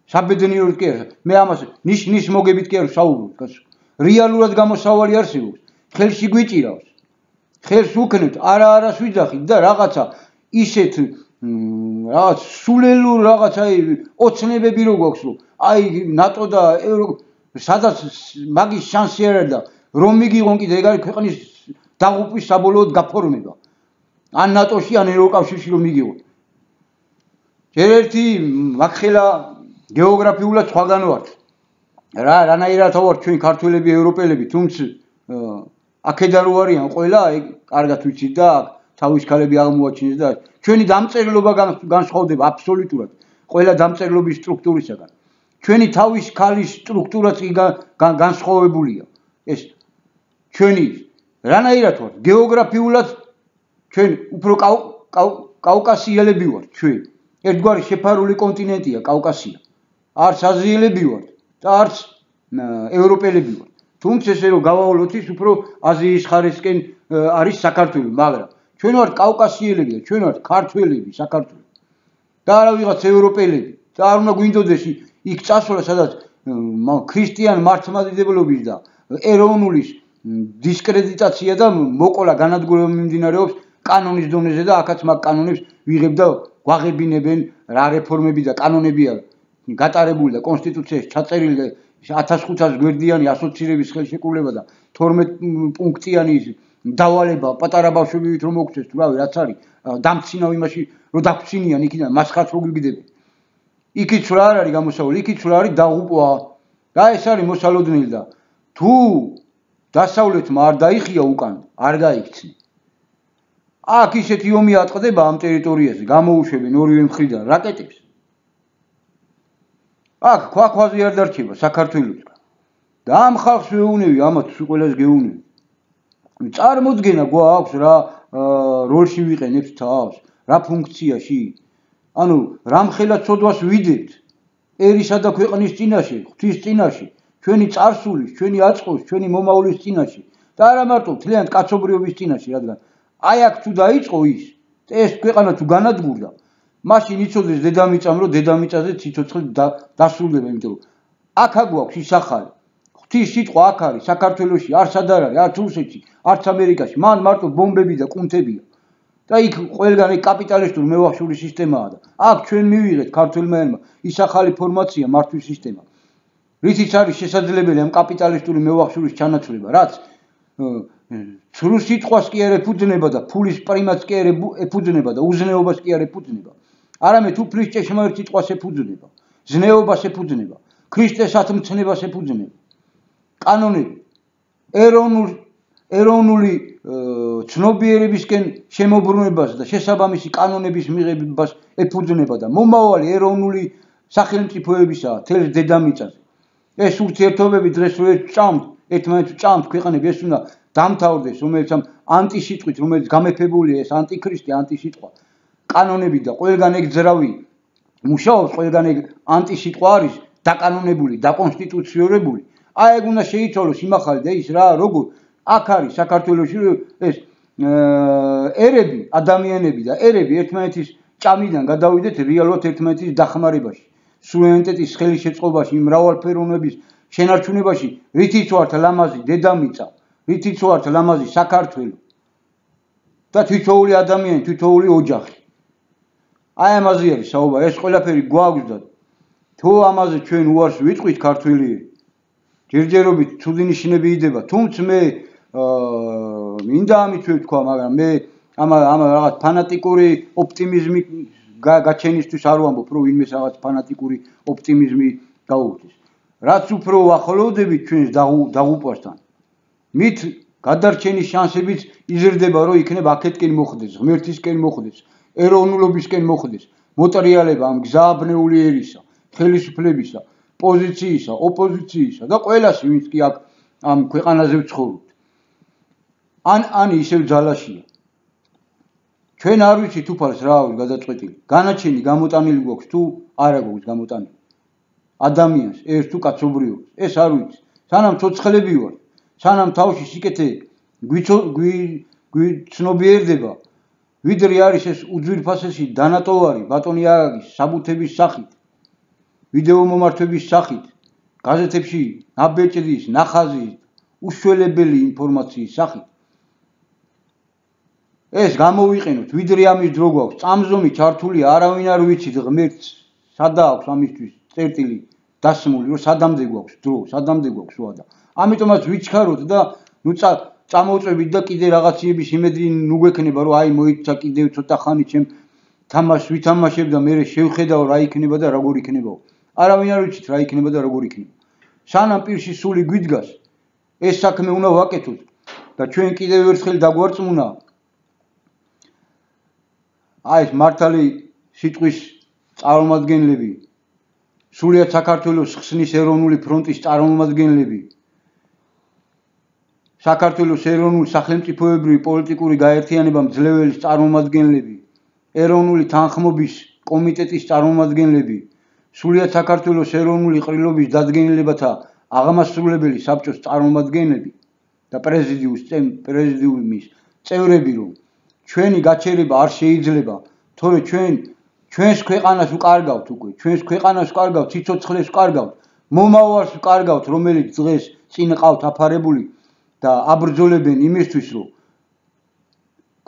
საბედნიეროდ კი არა. მე ამას ნიშ მოგებით კი არ ვსაუბრობ. რეალურად გამოსავალი არსებობს. ხელში გვიჭირავს. ხელს უქნებთ, არას ვიძახით და რაღაცა ისეთ რაღაც სულელურ რაღაც აი ოცნებები რო გვაქვს, რომ აი ნატო და სადაც მაგის შანსი არ არის და რომ მიგიღონ კიდე ეგ არის ქვეყნის დაღუპვის საბოლოოდ გაფორმება. ან ნატოში, ან ევროკავშირში რომ მიგიღონ. ერთი მაგხელა გეოგრაფიულად სხვაგან ვართ. რანაირად ვართ ჩვენ ქართველები, ევროპელები, თუმცა აქედან რო არიან ყველა, კარგად ვიცით და თავის ქალები აღმოაჩინეს და ჩვენი დამწერლობა განსხვავდება აბსოლუტურად ყველა დამწერლობის სტრუქტურისაგან. ჩვენი თავის ქალის სტრუქტურაც განსხვავებულია. ეს ჩვენი რანაირად ვართ გეოგრაფიულად ჩვენ უფრო კავკასიელები ვართ ჩვენ. ერთგვარი შეფარული კონტინენტია კავკასია. არც აზიელები ვართ და არც ევროპელები ვართ. თუმცა ესე რომ გავავლოთ ის უფრო აზიის ხარისკენ არის საქართველო, მაგრამ ჩვენ ვართ კავკასიელები და ჩვენ ვართ ქართველები საქართველოს. და არა ვიღაც ევროპელები. და არ უნდა გვინდოდეს იქ წასვლა, სადაც ქრისტიან მართლმადიდებლობის და ეროვნულის დისკრედიტაცია და მოყოლა განადგურება მიმდინარეობს კანონის დონეზე და აქაც მაგ კანონებს ვიღებ და გვაღებინებენ რა რეფორმები და კანონებია გატარებული და კონსტიტუციაში ჩაწერილი და 1500 გვერდიანი ასოცირების ხელშეკრულება და 12 პუნქტიანი დავალება პატარა ბავშვებით რომ მოგწეს თუ რავი რაც არის დამცინავ იმაში რომ დაგცინიან იქიდან მასხაც რო გიგდები იქით რა არის გამოსავალი იქით რა არის დაღუპვა და ეს არის მოსალოდნელი და თუ დასავლეთმა არ დაიხია უკან არ გაიქცნი აქ ისეთი ომი ატყდება ამ ტერიტორიაზე გამოუშვებენ ორივე მხრიდან რაკეტებს აქ ქვაქვაზე არ დარჩება საქართველოსგან და ამ ხალხს ვეუნები ამათ ყველას გეუნები წარმოდგენა გვაქვს რა როლში ვიყენებთ თავს რა ფუნქციაში ანუ რამხელა ცოდვას ვიდებთ ერისა და ქვეყნის წინაშე ღვთის წინაშე ჩვენი წარსულის ჩვენი აწყოს ჩვენი მომავლის წინაშე და არა მარტო თლიანად კაცობრიობის წინაშე რადგან აი აქ თუ დაიწყო ეს ქვეყანა თუ განადგურდა მაშინ იცოდეს დედამიწამ რომ დედამიწაზე ციცოცხლე დასრულდება იმიტომ რომ აქ აგვაქვს ის ახალი ღვთის სიტყვა აქ არის საქართველოში არ სად არ არის არც რუსეთში არც ამერიკაში მან მარტო ბომბები და კუნთებია და იქ ყველგან ეგ კაპიტალისტური მევახშული სისტემაა და აქ ჩვენ მივიღეთ ქართველმა ის ახალი ფორმაცია მართვის სისტემა რითიც არის შესაძლებელი ამ კაპიტალისტური მევახშულის ჩანაცვლება რაც ცრუ სიტყვას კი არ ეფუძნება და ფულის პრიმატს კი არ ეფუძნება და უზნეობას კი არ ეფუძნება არამედ უფლის ჭეშმარიტ სიტყვას ეფუძნება ზნეობას ეფუძნება ქრისტეს ათმცნებას ეფუძნება კანონები ეროვნული ცნობიერებისკენ შემოbrunებას და შესაბამისი კანონების მიღებას ეფუძნება და მომავალი ეროვნული სახელმწიფოებისაა თელს დედამიწაზე ეს ურთიერთობები დღეს რო ერთმანეთს ჭამთ ქვეყნები ეს უნდა დამთავრდეს რომელიც ამ ანტისიტყვით რომელიც გამეფებულია ეს ანტიქრისტე ანტისიტყვა კანონები და ყველგან ეგ ძრავი მუშაობს ყველგან ეგ ანტისიტყვა არის დაკანონებული დაკონსტიტუციურებული აი ეგ უნდა შეიცვალოს იმახალი და ის რა როგორ აქ არის საქართველოში ეს ერები ადამიანები და ერები ერთმანეთის ჭამიდან გადავიდეთ რეალურად ერთმანეთის დახმარებაში სუვერენიტეტის ხელის შეწყობაში მრავალფეროვნების შენარჩუნებაში რითიც ვართ ლამაზი დედამიწა რითიც ვართ ლამაზი საქართველო და თითოეული ადამიანი თითოეული ოჯახი აი ამაზე არის საუბარი ეს ყველაფერი გვაქვს და თუ ამაზე ჩვენ უარს ვიტყვით ქართველიები ჯერჯერობით ცუდი ნიშნები იდება თუმცა მე მინდა ამით ვთქვა მაგრამ მე ამ რაღაც ფანატიკური ოპტიმიზმი გაჩენისთვის არ ვამბობ რომ ვინმეს რაღაც ფანატიკური ოპტიმიზმი გაუხდეს რაც უფრო ახლოვდებით ჩვენს დაღუპვასთან მით გადარჩენის შანსებიც იზრდება რომ იქნებ აქეთკენ მოხდეს ღმერთისკენ მოხდეს ეროვნულობისკენ მოხდეს მოტრიალება ამ გზააბნეული ერისა ხელისუფლებისა პოზიციისა ოპოზიციისა და ყველას ვინც კი აქ ამ ქვეყანაზე ვცხოვრობთ ან ისევ ძალაშია ჩვენ არ ვიცით უფალს რა არის გადაწყვეტილი განაჩენი გამოტანილი გვაქვს თუ არა გვაქვს გამოტანილი ადამიანს ერთ თუ კაცობრიობას ეს არ ვიცით სანამ ცოცხლები ვარ სანამ თავში სიკეთე გვიცნობიერდება ვიდრე არის ეს უძვირფასესი დანატოვარი ბატონი აგის საბუთების სახით ვიდეო მომართვების სახით გაზეთებში ნაბეჭდის ნახაზის უშველებელი ინფორმაციის სახით ეს გამოვიყენოთ ვიდრე ამის დრო გვაქვს წამზომი ჩართული არავინ არ ვიცით ღმერთს სადა აქვს ამისთვის წერტილი დასმული რომ სადამდე გვაქვს დრო სადამდე გვაქვს უადა ამიტომაც ვიჩქაროთ და ნუ წამოვწვევით და კიდე რაღაციების იმედი ნუ გვექნება რომ აი მოიცა კიდევ ცოტა ხანი ჩემ თამაშს ვითამაშებ და მე შევხედავ რა იქნება და როგორ იქნება არავინ არ ვიცით რა იქნება და როგორ იქნება სანამ პირში სული გვიდგას ეს საქმე უნდა ვაკეთოთ და ჩვენ კიდევ ერთხელ დაგვარწმუნა აი ეს მართალი სიტყვის წარმომადგენლები სულიად საქართველოს ხსნის ეროვნული ფრონტის წარმომადგენლები საქართველოს ეროვნული სახელმწიფოებრივი პოლიტიკური გაერთიანება მძლეველის წარმომადგენლები ეროვნული თანხმობის კომიტეტის წარმომადგენლები სულიად საქართველოს ეროვნული ყრილობის დადგენილებათა აღმასრულებელი საბჭოს წარმომადგენლები და პრეზიდიუმის წევრები რომ ჩვენი გაჩერება არ შეიძლება თორე ჩვენს ქვეყანას ვკარგავთ უკვე ჩვენს ქვეყანას ვკარგავთ სიცოცხლეს ვკარგავთ მომავალს ვკარგავთ რომელიც დღეს წინ ყავთ აფარებული და აბრძოლებენ იმისთვის რომ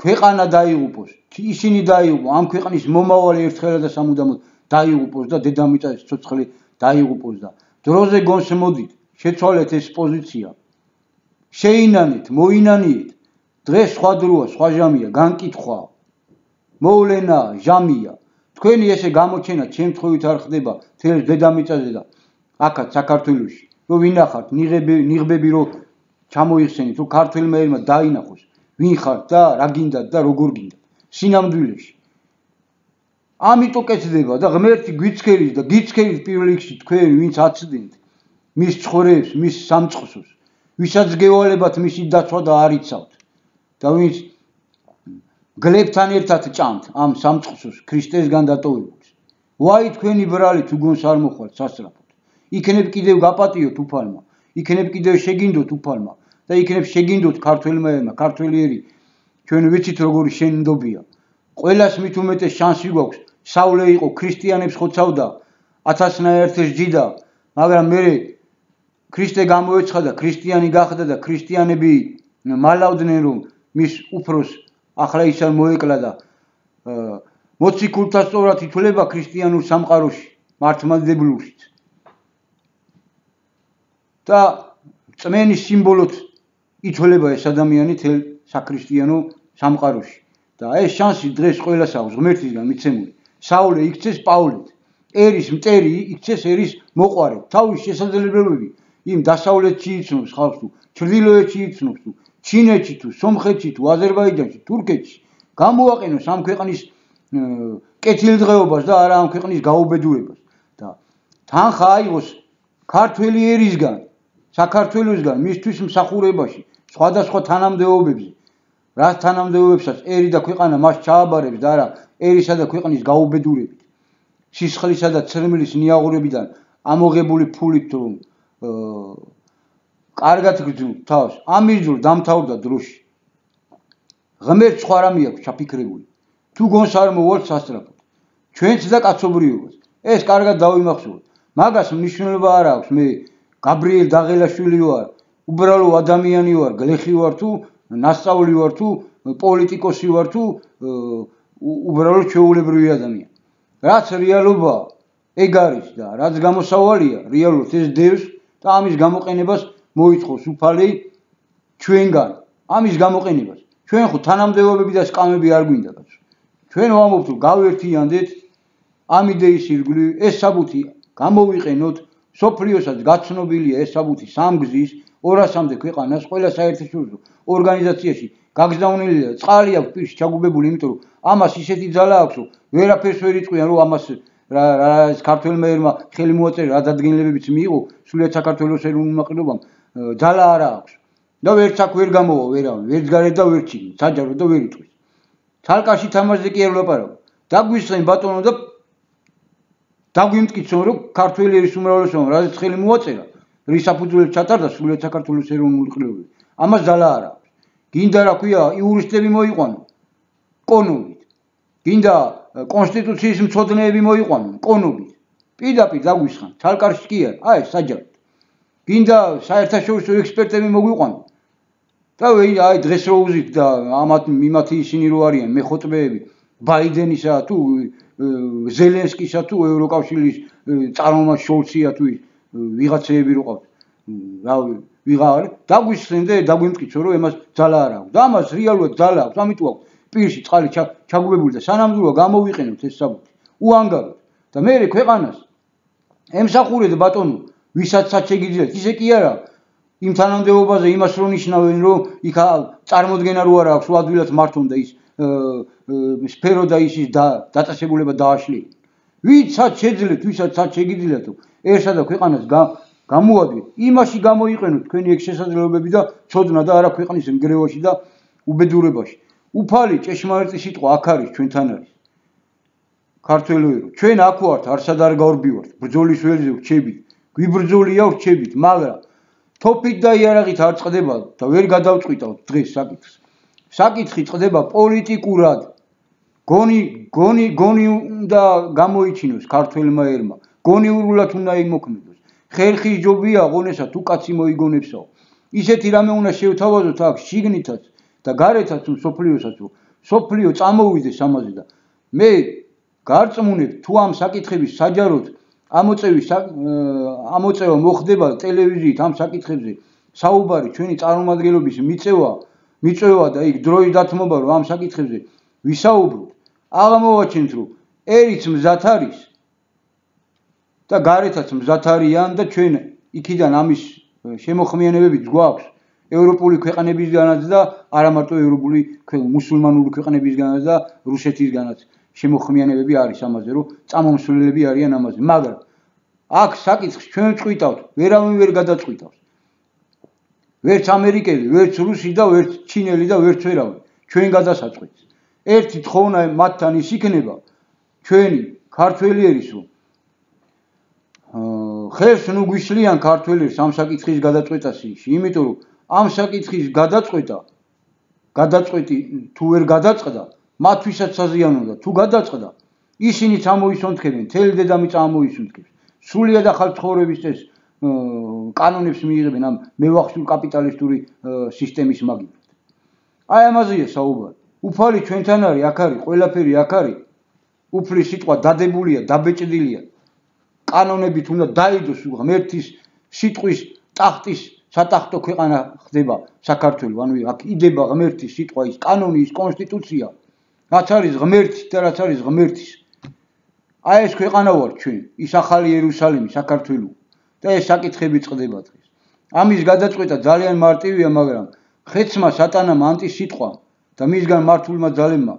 ქვეყანა დაიღუპოს ისინი დაიღუპოს ამ ქვეყნის მომავალი ერთხელ და სამუდამოდ დაიღუპოს და დედამიწაზე სიცოცხლე დაიღუპოს და დროზე გონს მოდით შეცვალეთ ეს პოზიცია შეინანეთ მოინანიეთ დღეს სხვა დროა, სხვა ჟამია, განკითხვა, მოვლენა, ჟამია. თქვენი ესე გამოჩენა ჩემ თხოვით არ ხდება თელს დედამიწაზე და აქაც საქართველოში. რომ ვინახართ, ნიღბები რომ ჩამოიხსენით, რომ ქართველმა ერმა დაინახოს, ვინ ხართ და რა გინდათ და როგორ გინდათ. სინამდვილეში. ამიტომ კეთდება და ღმერთი გვიცხერის და გიცხერის პირველ რიგში თქვენ ვინც აცდენთ მის ცხოვრებს, მის სამწყსოს, ვისაც გევალებათ მისი დაცვა და არ იცავთ. და ვინც გლებთან ერთად ჭამთ ამ სამწყსოს ქრისტესგან დატოვებულს. ვაი თქვენი ბრალი თუ გონს არ მოხვალთ სასწრაფოდ. იქნებ კიდევ გაპატიოთ უფალმა, იქნებ კიდევ შეგინდოთ უფალმა და იქნებ შეგინდოთ ქართველმა ერმა, ქართველი ერი ჩვენ ვიცით როგორი შენდობია. ყველას მით უმეტეს შანსი გვაქვს. საულე იყო ქრისტიანებს ხოცავდა 1000-ნაერთი ჯიდა, მაგრამ მე ქრისტე გამოეცხადა, ქრისტიანი გახდა და ქრისტიანები მალავდნენ რომ მის უფროს ახლა ის არ მოეკლა და მოციქულთა სწორად ითვლება ქრისტიანულ სამყაროში, მართლმადიდებლურშიც. და წმენის სიმბოლოდ ითვლება ეს ადამიანი თელ საქრისტიანო სამყაროში. და ეს შანსი დღეს ყველას აქვს ღმერთისგან მიცემული. საულე იქცეს პაულეთ, ერის მტერი იქცეს ერის მოყვარეთ. თავის შესაძლებლობები იმ დასავლეთში იცნობს ხალხს თუ ჩრდილოეთში იცნობს თუ ჩინეთში თუ სომხეთში თუ აზერბაიჯანში, თურქეთში გამოაყენოს ამ ქვეყნის კეთილდღეობას და არა ამ ქვეყნის გაუბედურებას. და თანხა აიღოს ქართველი ერისგან, საქართველოსგან მისთვის მსახურებაში, სხვადასხვა თანამდებობებზე. რაც თანამდებობებსაც ერი და ქვეყანა მას ჩააბარებს და არა ერისა და ქვეყნის გაუბედურებით. სისხლისა და ცრემლის ნიაღურებიდან ამოღებული ფულით რომ კარგად გძნ თავს, ამის დრო დამთავრდა დროში. ღმერთს სხვა რამე აქვს ჩაფიქრებული. თუ გონს არ მოვალთ სასწრაფოდ. ჩვენც და კაცობრიობას. ეს კარგად დავიმახსოვროთ. მაგას მნიშვნელობა არ აქვს მე გაბრიელ დაღელაშვილი ვარ, უბრალო ადამიანი ვარ, გლეხი ვარ თუ ნასწავლი ვარ თუ პოლიტიკოსი ვარ თუ უბრალოდ ჩვეულებრივი ადამიანი. რაც რეალობაა, ეგ არის და რაც გამოსავალია, რეალურად ეს დევს და ამის გამოყენებას მოითხოვს უფალი ჩვენგან. ამის გამოყენებას. ჩვენ ხო თანამდებობები და სკამები არ გვინდა კაცო. ჩვენ ვამბობთ რომ გავერთიანდეთ ამ იდეის ირგვლივ, ეს საბუთი გამოვიყენოთ, სოფლიოსაც გაცნობილია ეს საბუთი სამგზის 200-მდე ქვეყანას, ყველა საერთაშორისო ორგანიზაციაში გაგზავნილი და წყალი აქვს პირში ჩაგუბებული, იმიტომ რომ ამას ისეთი ძალა აქვს, რომ ვერაფერს ვერ იწყვიან, რომ ამას რა ქართველმა ერმა ხელი მოაწერა, რა დადგენილებებიც მიიღო, სულიად საქართველოს ეროვნულ ნაკრებამ ძალა არა აქვს. და ვერც აქ ვერ გამოვა ვერავინ, ვერც გარეთ და ვერც შიგნით, საჯარო და ვერ იტყვის. თალკაში თამაშზე კი არ ვლაპარაკო. დაგვისხენ ბატონო და დაგვიმტკიცონ, რომ ქართველი ერის უმრავლესობამ რაზეც ხელი მოაწერა, რის საფუძველზე ჩატარდა სულიად საქართველოს ეროვნული ყრილობები. ამას ძალა არ აქვს. გინდა რა ქვია, იურისტები მოიყვანო კონობით. გინდა კონსტიტუციის მცოდნეები მოიყვანო კონობით. პირდაპირ დაგვისხან, თალკარში კი არა, აი საჯაროდ. გინდა საერთაშორისო ექსპერტები მოგვიყვანო. და აი დღეს რო უზით და იმათი ისინი რო არიან მეხოტბეები ბაიდენისა თუ ზელენსკისა თუ ევროკავშირის წარმომადგენელი შოლცია თუ ვიღაცეები რო ყავთ. რა ვიღარ დაგვისხენ და დაგვიმტკიცო რომ ემას ძალა არ აქვს. და ამას რეალურად ძალა აქვს, ამიტომ აქვს პირში წყალი ჩაგუბებული და სანამდვილო გამოვიყენოთ ეს საბუთი. უანგაროთ და მე ქვეყანას ემსახურეთ ბატონო, ვისაც შეგიძლიათ, ისე კი არა იმ თანამდებობაზე იმას რო ნიშნავენ, რომ იქ წარმოდგენა რო არ აქვს, რომ ადვილად მართონ და ის სფერო და ის დაწესებულება დააშლიან. ვისაც შეძლეთ, ვისაც შეგიძლიათ, ერთსა და ქვეყანას გამოადვით, იმაში გამოიყენოთ თქვენი ეგ შესაძლებლობები და ცოდნა და არა ქვეყნის ნგრევაში და უბედურებაში. უფალი ჭეშმარიტი სიტყვა აქ არის, ჩვენთან არის. ქართველოერო, ჩვენ აქ ვართ, არსად არ გავრბივართ, ბრძოლის ველზე ვრჩებით, გვიბრძოლია ვრჩებით, მაგრამ თოფით და იარაღით არ წყდება და ვერ გადავწყვიტავთ დღეს საკითხს. საკითხი წყდება პოლიტიკურად. გონი უნდა გამოიჩინოს ქართველმა ერმა, გონიურულად უნდა იმოქმედოს. ხერხის ჯობია ღონესა თუ კაცი მოიგონებსაო. ისეთი რამე უნდა შევთავაზოთ აქ შიგნითაც და გარეთაც სოფლიოსაც, რომ სოფლიო წამოვიდეს ამაზე და მე გარწმუნებ თუ ამ საკითხების საჯაროდ ამოწევა მოხდება ტელევიზიით ამ საკითხებზე საუბარი ჩვენი წარმომადგენლობის მიწევა მიწვევა და იქ დროის დათმობა რომ ამ საკითხებზე ვისაუბროთ, აღმოვაჩენთ რომ ერიც მზად არის და გარეთაც მზად არიან და ჩვენ იქიდან ამის შემოხმიანებებიც გვაქვს ევროპული ქვეყნებისგანაც და არა მარტო ევროპული მუსულმანური ქვეყნებისგანაც და რუსეთისგანაც შემოხმიანებები არის ამაზე რომ წამომსვლელები არიან ამაზე, მაგრამ აქ საკითხს ჩვენ წვითავთ, ვერავინ ვერ გადაწყვიტავს. ვერც ამერიკელი, ვერც რუსი და ვერც ჩინელი და ვერც ვერავინ ჩვენ გადასაწყვეტს. ერთი თხოვნა მათთან ის იქნება ჩვენი ქართველიერის რომ ხელს ნუ გვიშლიან ქართველებს ამ საკითხის გადაწყვეტასში, იმიტომ რომ ამ საკითხის გადაწყვეტი თუ ვერ გადაწყდა, მათთვისაც საზიანოა, თუ გადაწყდა, ისინი წამოისუნთქებენ, მთელი დედამიწა ამოისუნთქებს. სრულიად ახალ ცხოვრების წესს კანონებს მიიღებენ ამ მევახშულ კაპიტალისტური სისტემის მაგივრად. აი ამაზეა საუბარი. უფალი ჩვენთან არის, აქ არის, ყველაფერი აქ არის. უფლის სიტყვა დადებულია, დაბეჭდილია. კანონებით უნდა დაიდოს ღმერთის სიტყვის ტახტის სატახტო ქვეყანა ხდება საქართველო. ანუ აქ იდება ღმერთის სიტყვა, ის კანონი, ის კონსტიტუცია. რაც არის ღმერთის და რაც არის ღმერთის. აი ეს ქვეყანა ვარ ჩვენ, ის ახალი იერუსალიმი, საქართველო. და ეს საკითხები წყდება დღეს. ამის გადაწყვეტა ძალიან მარტივია, მაგრამ ხეცმა სატანამ ანტისიტყვა და მისგან მართულმა ძალებმა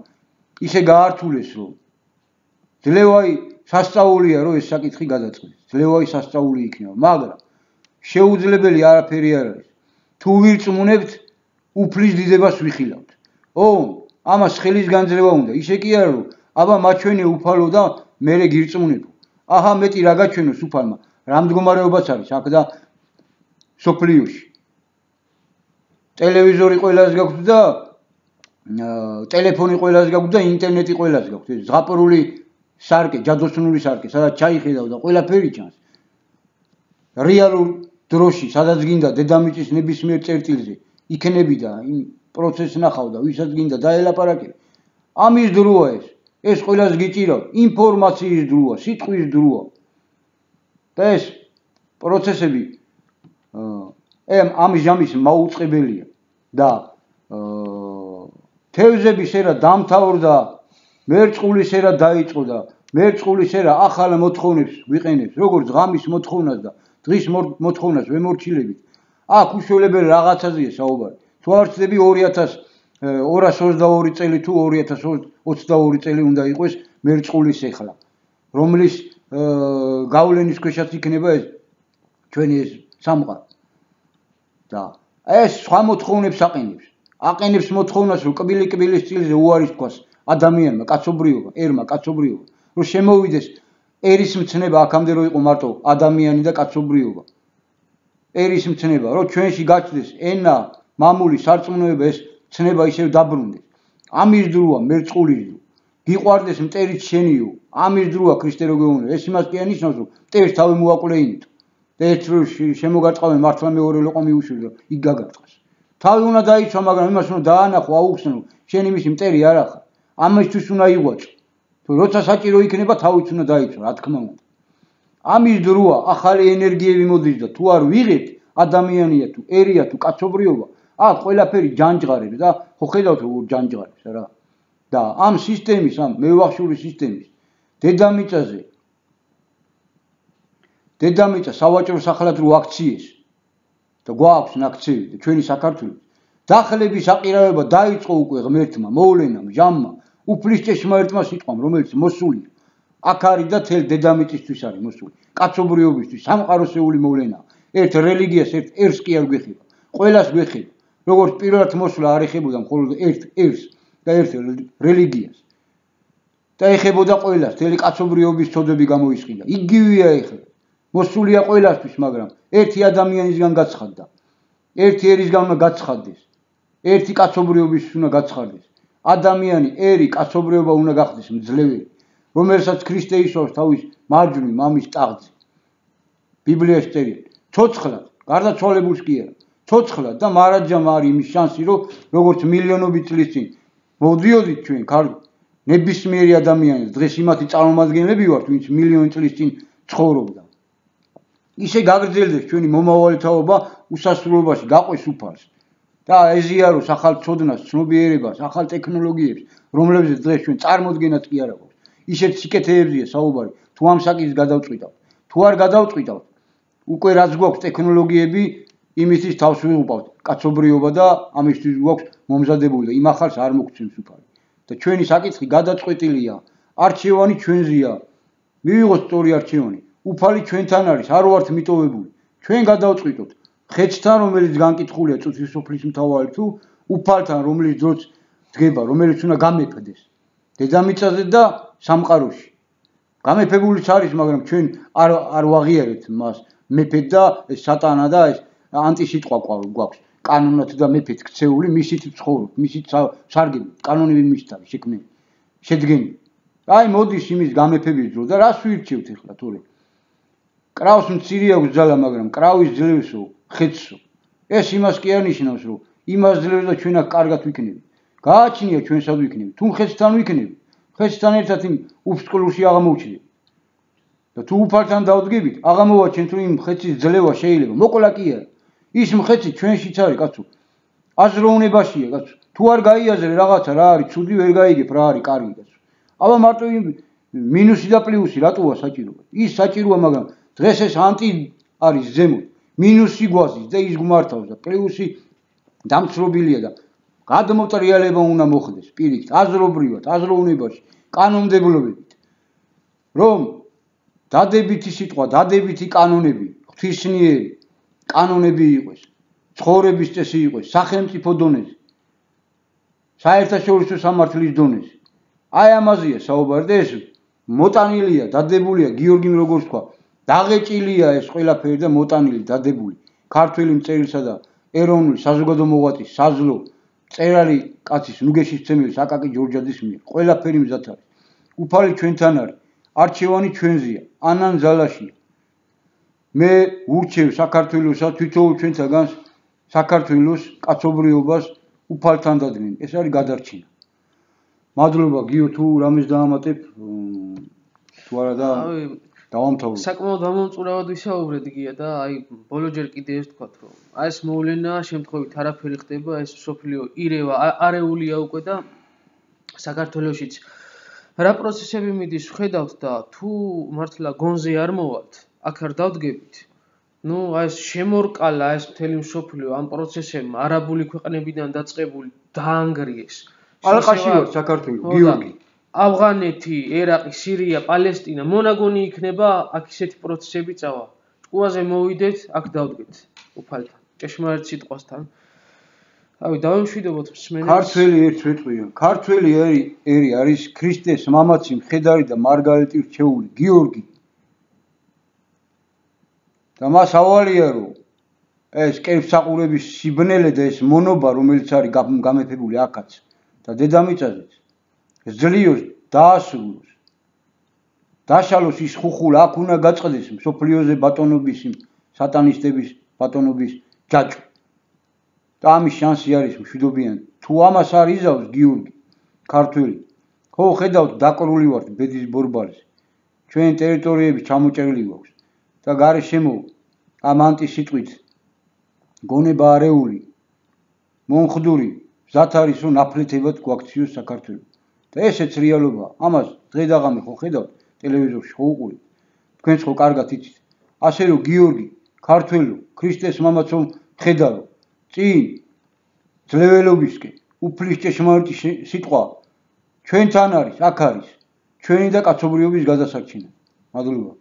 ისე გაართულეს, რომ ძლევაი სასწაულია, რომ ეს საკითხი გადაწყვეტეს. ძლევაი სასწაული იქნება, მაგრამ შეუძლებელი არაფერი არ არის. თუ ვირწმუნებთ, უფლის დიდებას ვიხილავთ. ამას ხელის განძლევა უნდა. ისე კი არა, რომ აბა მაჩვენე უფალო და მერე გირწმუნებო. აჰა მეტი რა გაჩვენოს უფალმა. რა მდგომარეობაც არის აქ და სოფლიოში. ტელევიზორი ყველას გაქვთ და ტელეფონი ყველას გაქვთ და ინტერნეტი ყველას გაქვთ. ეს ზღაპრული სარკე, ჯადოსნური სარკე, სადაც ჩაიხედავ და ყველაფერი ჩანს. რეალურ დროში, სადაც გინდა დედამიწის ნებისმიერ წერტილზე იქნები და იმ პროცესს ნახავ და ვისაც გინდა დაელაპარაკე. ამის დროა ეს. ეს ყველას გიჭირავ, ინფორმაციის დროა, სიტყვის დროა. და ეს პროცესები ამის ჟამის მაუწყებელია და თევზები შერა დამთავრდა, მერწყული შერა დაიწყო და მერწყული შერა ახალ მოთხოვნებს ვიყენებს, როგორც ღამის მოთხოვნას და დღის მოთხოვნას ვემორჩილებით. აქ უშველებელი რაღაცაზეა საუბარი. თუ არ ვცდები 2222 წელი თუ 2022 წელი უნდა იყოს მერწყულის ეხლა, რომლის გავლენის ქვეშაც იქნება ეს ჩვენი ეს სამყარო. და ეს სხვა მოთხოვნებს აყენებს მოთხოვნას, რომ კბილი-კბილის წილზე უარის თქვას ადამიანმა, კაცობრიობა, ერმა, კაცობრიობა, რომ შემოვიდეს ერის მცნება, აქამდე რომ იყო მარტო ადამიანი და კაცობრიობა. ერის მცნება, რომ ჩვენში გაჩნდეს ენა, მამული, სარწმუნოება, ეს ცნება ისევ დაბრუნდეს. ამის დროა მერწყულის დრო. გიყვარდეს მტერიც შენიო, ამის დროა ქრისტე რო გეუბნები. ეს იმას კი ანიშნავს, რომ მტერს თავი მოაკლეინით. და ერთ რო შემოგაწყავენ მართლა მეორე ლოყო მიუშვი, იქ გაგაწყას. თავი უნდა დაიცვა, მაგრამ იმას უნდა დაანახო, აუხსნო, შენ იმის მტერი არ ახარ. ამისთვის უნდა იღვაწო. თუ როცა საჭირო იქნება, თავიც უნდა დაიცვა, რა თქმა უნდა. ამის დროა ახალი ენერგიები მოდის და თუ არ ვიღებთ, ადამიანია თუ ერია თუ კაცობრიობა, აქ ყველაფერი ჯანჯღარებს და ხო ხედავთ როგორ ჯანჯღარებს რა. და ამ სისტემის, ამ მევახშული სისტემის დედამიწა სავაჭრო სახლად რო აქციეს და გვაქვს აქციები და ჩვენი საქართველოს დახლების აყირავება დაიწყო უკვე ღმერთმა, მოვლენამ, ჟამმა, უფლის ჭეშმარიტმა სიტყვამ, რომელიც მოსულია. აქ არის და თელ დედამიწისთვის არის მოსული. კაცობრიობისთვის სამყაროსეული მოვლენაა. ერთ რელიგიას, ერთ ერს კი არ გვეხება. ყველას გვეხება. როგორც პირველად მოსვლა არ ეხებოდა მხოლოდ ერთ ერს და ერთ რელიგიას. და ეხებოდა ყველას, თელი კაცობრიობის ცოდები გამოისყიდა. იგივეა ეხლა. მოსულია ყველასთვის, მაგრამ ერთი ადამიანისგან გაცხადდა. ერთი ერისგან უნდა გაცხადდეს. ერთი კაცობრიობის უნდა გაცხადდეს. ადამიანი, ერი, კაცობრიობა უნდა გახდეს მძლევრი, რომელსაც ქრისტე ისვავს თავის მარჯვნივ მამის ტახტზე. ბიბლიაში წერია, ცოცხლად, გარდაცვალებულს კი არა, ცოცხლად და მარადჯამ არის იმის შანსი, რომ როგორც მილიონობით წლის წინ მოვდიოდით ჩვენ ნებისმიერი ადამიანი, დღეს იმათი წარმომადგენლები ვართ, ვინც მილიონი წლის წინ ცხოვრობდა. ისე გაგრძელდეს ჩვენი მომავალი თაობა უსასრულობაში, გაყვეს უფალს. და ეზიაროს ახალ ცოდნას, ცნობიერებას, ახალ ტექნოლოგიებს, რომლებზეც დღეს ჩვენ წარმოდგენაც კი არ აქვს. ისეთ სიკეთეებზია საუბარი, თუ ამ საკითხს გადავწყვიტავთ. თუ არ გადავწყვიტავთ, უკვე რაც გვაქვს ტექნოლოგიები, იმისთვის თავს ვიღუპავთ კაცობრიობა და ამისთვის გვაქვს მომზადებული და იმ ახალს არ მოგცემს უფალი. და ჩვენი საკითხი გადაწყვეტილია, არჩევანი ჩვენზეა. მივიღოთ სწორი არჩევანი. უფალი ჩვენთან არის, არ ვართ მიტოვებული. ჩვენ გადავწყვიტოთ ხეთთან, რომელიც განკითხულია წუთის სოფლის მთავარი თუ უფალთან, რომელიც დროც დგება, რომელიც უნდა გამეფდეს. დედამიწაზე და სამყაროში. გამეფებულიც არის, მაგრამ ჩვენ არ ვაღიარებთ მას. მეფედ და სატანა და ეს ანტისიტყვა გვაქვს. კანონად და მეფეთ ქცეული, მისით ცხოვრობ, მისით სარგებლობ, კანონები მისით არის შექმნილი, შედგენილი. აი მოდის იმის გამეფების დრო და რას ვირჩევთ ახლა თორე? კრავს მცირე აქვს ძალა, მაგრამ კრავის ძლევსო, ხეთსო. ეს იმას კი არ ნიშნავს, რომ იმას ძლევს და ჩვენ აქ კარგად ვიქნებით. გააჩნია ჩვენ სად ვიქნებით, თუ ხეთთან ვიქნებით, ხეთთან ერთად იმ უფსკულში აღმოჩნდებით. და თუ უფალთან დავდგებით, აღმოვაჩენთ, რომ იმ ხეთის ძლევა შეიძლება, მოკლა კი არა. ის მხეცი ჩვენშიც არის, კაცო. აზროვნებაშია, კაცო. თუ არ გაიაზრე რაღაცა რა არის, ცუდი ვერ გაიგებ რა არის კარგი, კაცო. აბა მარტო იმ მინუსი და პლუსი რატოა საჭიროა? ის საჭიროა, მაგრამ დღეს ეს ანტი არის ზემოთ. მინუსი გვაზის და ის გმართავს და პლუსი დამცრობილია და გადმოტრიალება უნდა მოხდეს პირიქით, აზრობრივად, აზროვნებაში, კანონმდებლობებით. რომ დადებითი სიტყვა, დადებითი კანონები, ღვთისმიერი კანონები იყოს, ცხოვრების წესი იყოს, სახელმწიფო დონეზე, საერთაშორისო სამართლის დონეზე. აი ამაზეა საუბარი და ეს მოტანილია, დადებულია გიორგიმ როგორც თქვა, დაღეჭილია ეს ყველაფერი და მოტანილი, დადებული. ქართველი მწერლისა და ეროვნული საზოგადო მოღვაწის საზლო წერალი კაცის ნუგეშისცემლის აკაკი ჯორჯაძის მიერ. ყველაფერი მზად არის. უფალი ჩვენთან არის. არჩევანი ჩვენზეა, ანან ძალაშია. მე ვურჩევ საქართველოსა თვითოულ ჩვენთაგანს საქართველოს კაცობრიობას უფალთან დადგენ. ეს არის გადარჩენა. მადლობა გიო თუ რამეს დაამატებ თუ არა და დავამთავრებ. საკმაოდ ამომწურავად ვისაუბრეთ გია და აი ბოლო ჯერ კიდე ეს თქვათ რომ აი ეს მოვლენა შემთხვევით არაფერი ხდება, ეს სოფლიო ირევა არეულია უკვე და საქართველოსიც რა პროცესები მიდის ხედავთ და თუ მართლა გონზე არ მოვალთ, აქ არ დავდგებით. ნუ აი ეს შემორკალა ეს მთელი მსოფლიო ამ პროცესებმა არაბული ქვეყნებიდან დაწყებული დაანგრიეს. ალყაში ვარ საქართველოს, გიორგი. ავღანეთი, ერაყი, სირია, პალესტინა, მონაგონი იქნება, აქ ისეთი პროცესები წავა. ჭკუაზე მოვიდეთ, აქ დავდგეთ უფალთან, ჭეშმარიტ სიტყვასთან. ავი დავემშვიდობოთ მსმენელს. ქართველი ერთვეტყვია. ქართველი ერი არის ქრისტეს მამაცი, მხედარი და მარგალიტი რჩეული, გიორგი. და მას ავალია რომ ეს კერპსაყურების სიბნელე და ეს მონობა, რომელიც არის გამეფებული აქაც და დედამიწაზეც ძლიოს დაასრულოს. დაშალოს ის ხუხულა, აქ უნდა გაწყდეს მსოფლიოზე ბატონობის, სატანისტების ბატონობის ჯაჭვი. და ამის შანსი არის მშვიდობიანი. თუ ამას არ იზავს გიორგი, ქართველი, ხო ხედავთ დაკრული ვართ ბედის ბორბალზე. ჩვენ ტერიტორიები ჩამოჭრილი გვაქვს და გარშემო ამ ანტისიტყვით გონება არეული, მომხდური, მზად არის რომ ნაფლეთებად გვაქციოს საქართველოს. და ესეც რეალობაა. ამას დღე-დაღამე ხო ხედავთ ტელევიზორში ხო უყურებთ. თქვენც ხო კარგად იცით. ასე რომ გიორგი, ქართველო, ქრისტეს მამაცო ხედავ წინ ძლეველობისკენ, უფლის ჭეშმარიტი სიტყვა ჩვენთან არის, აქ არის. ჩვენი და კაცობრიობის გადასარჩენად. მადლობა.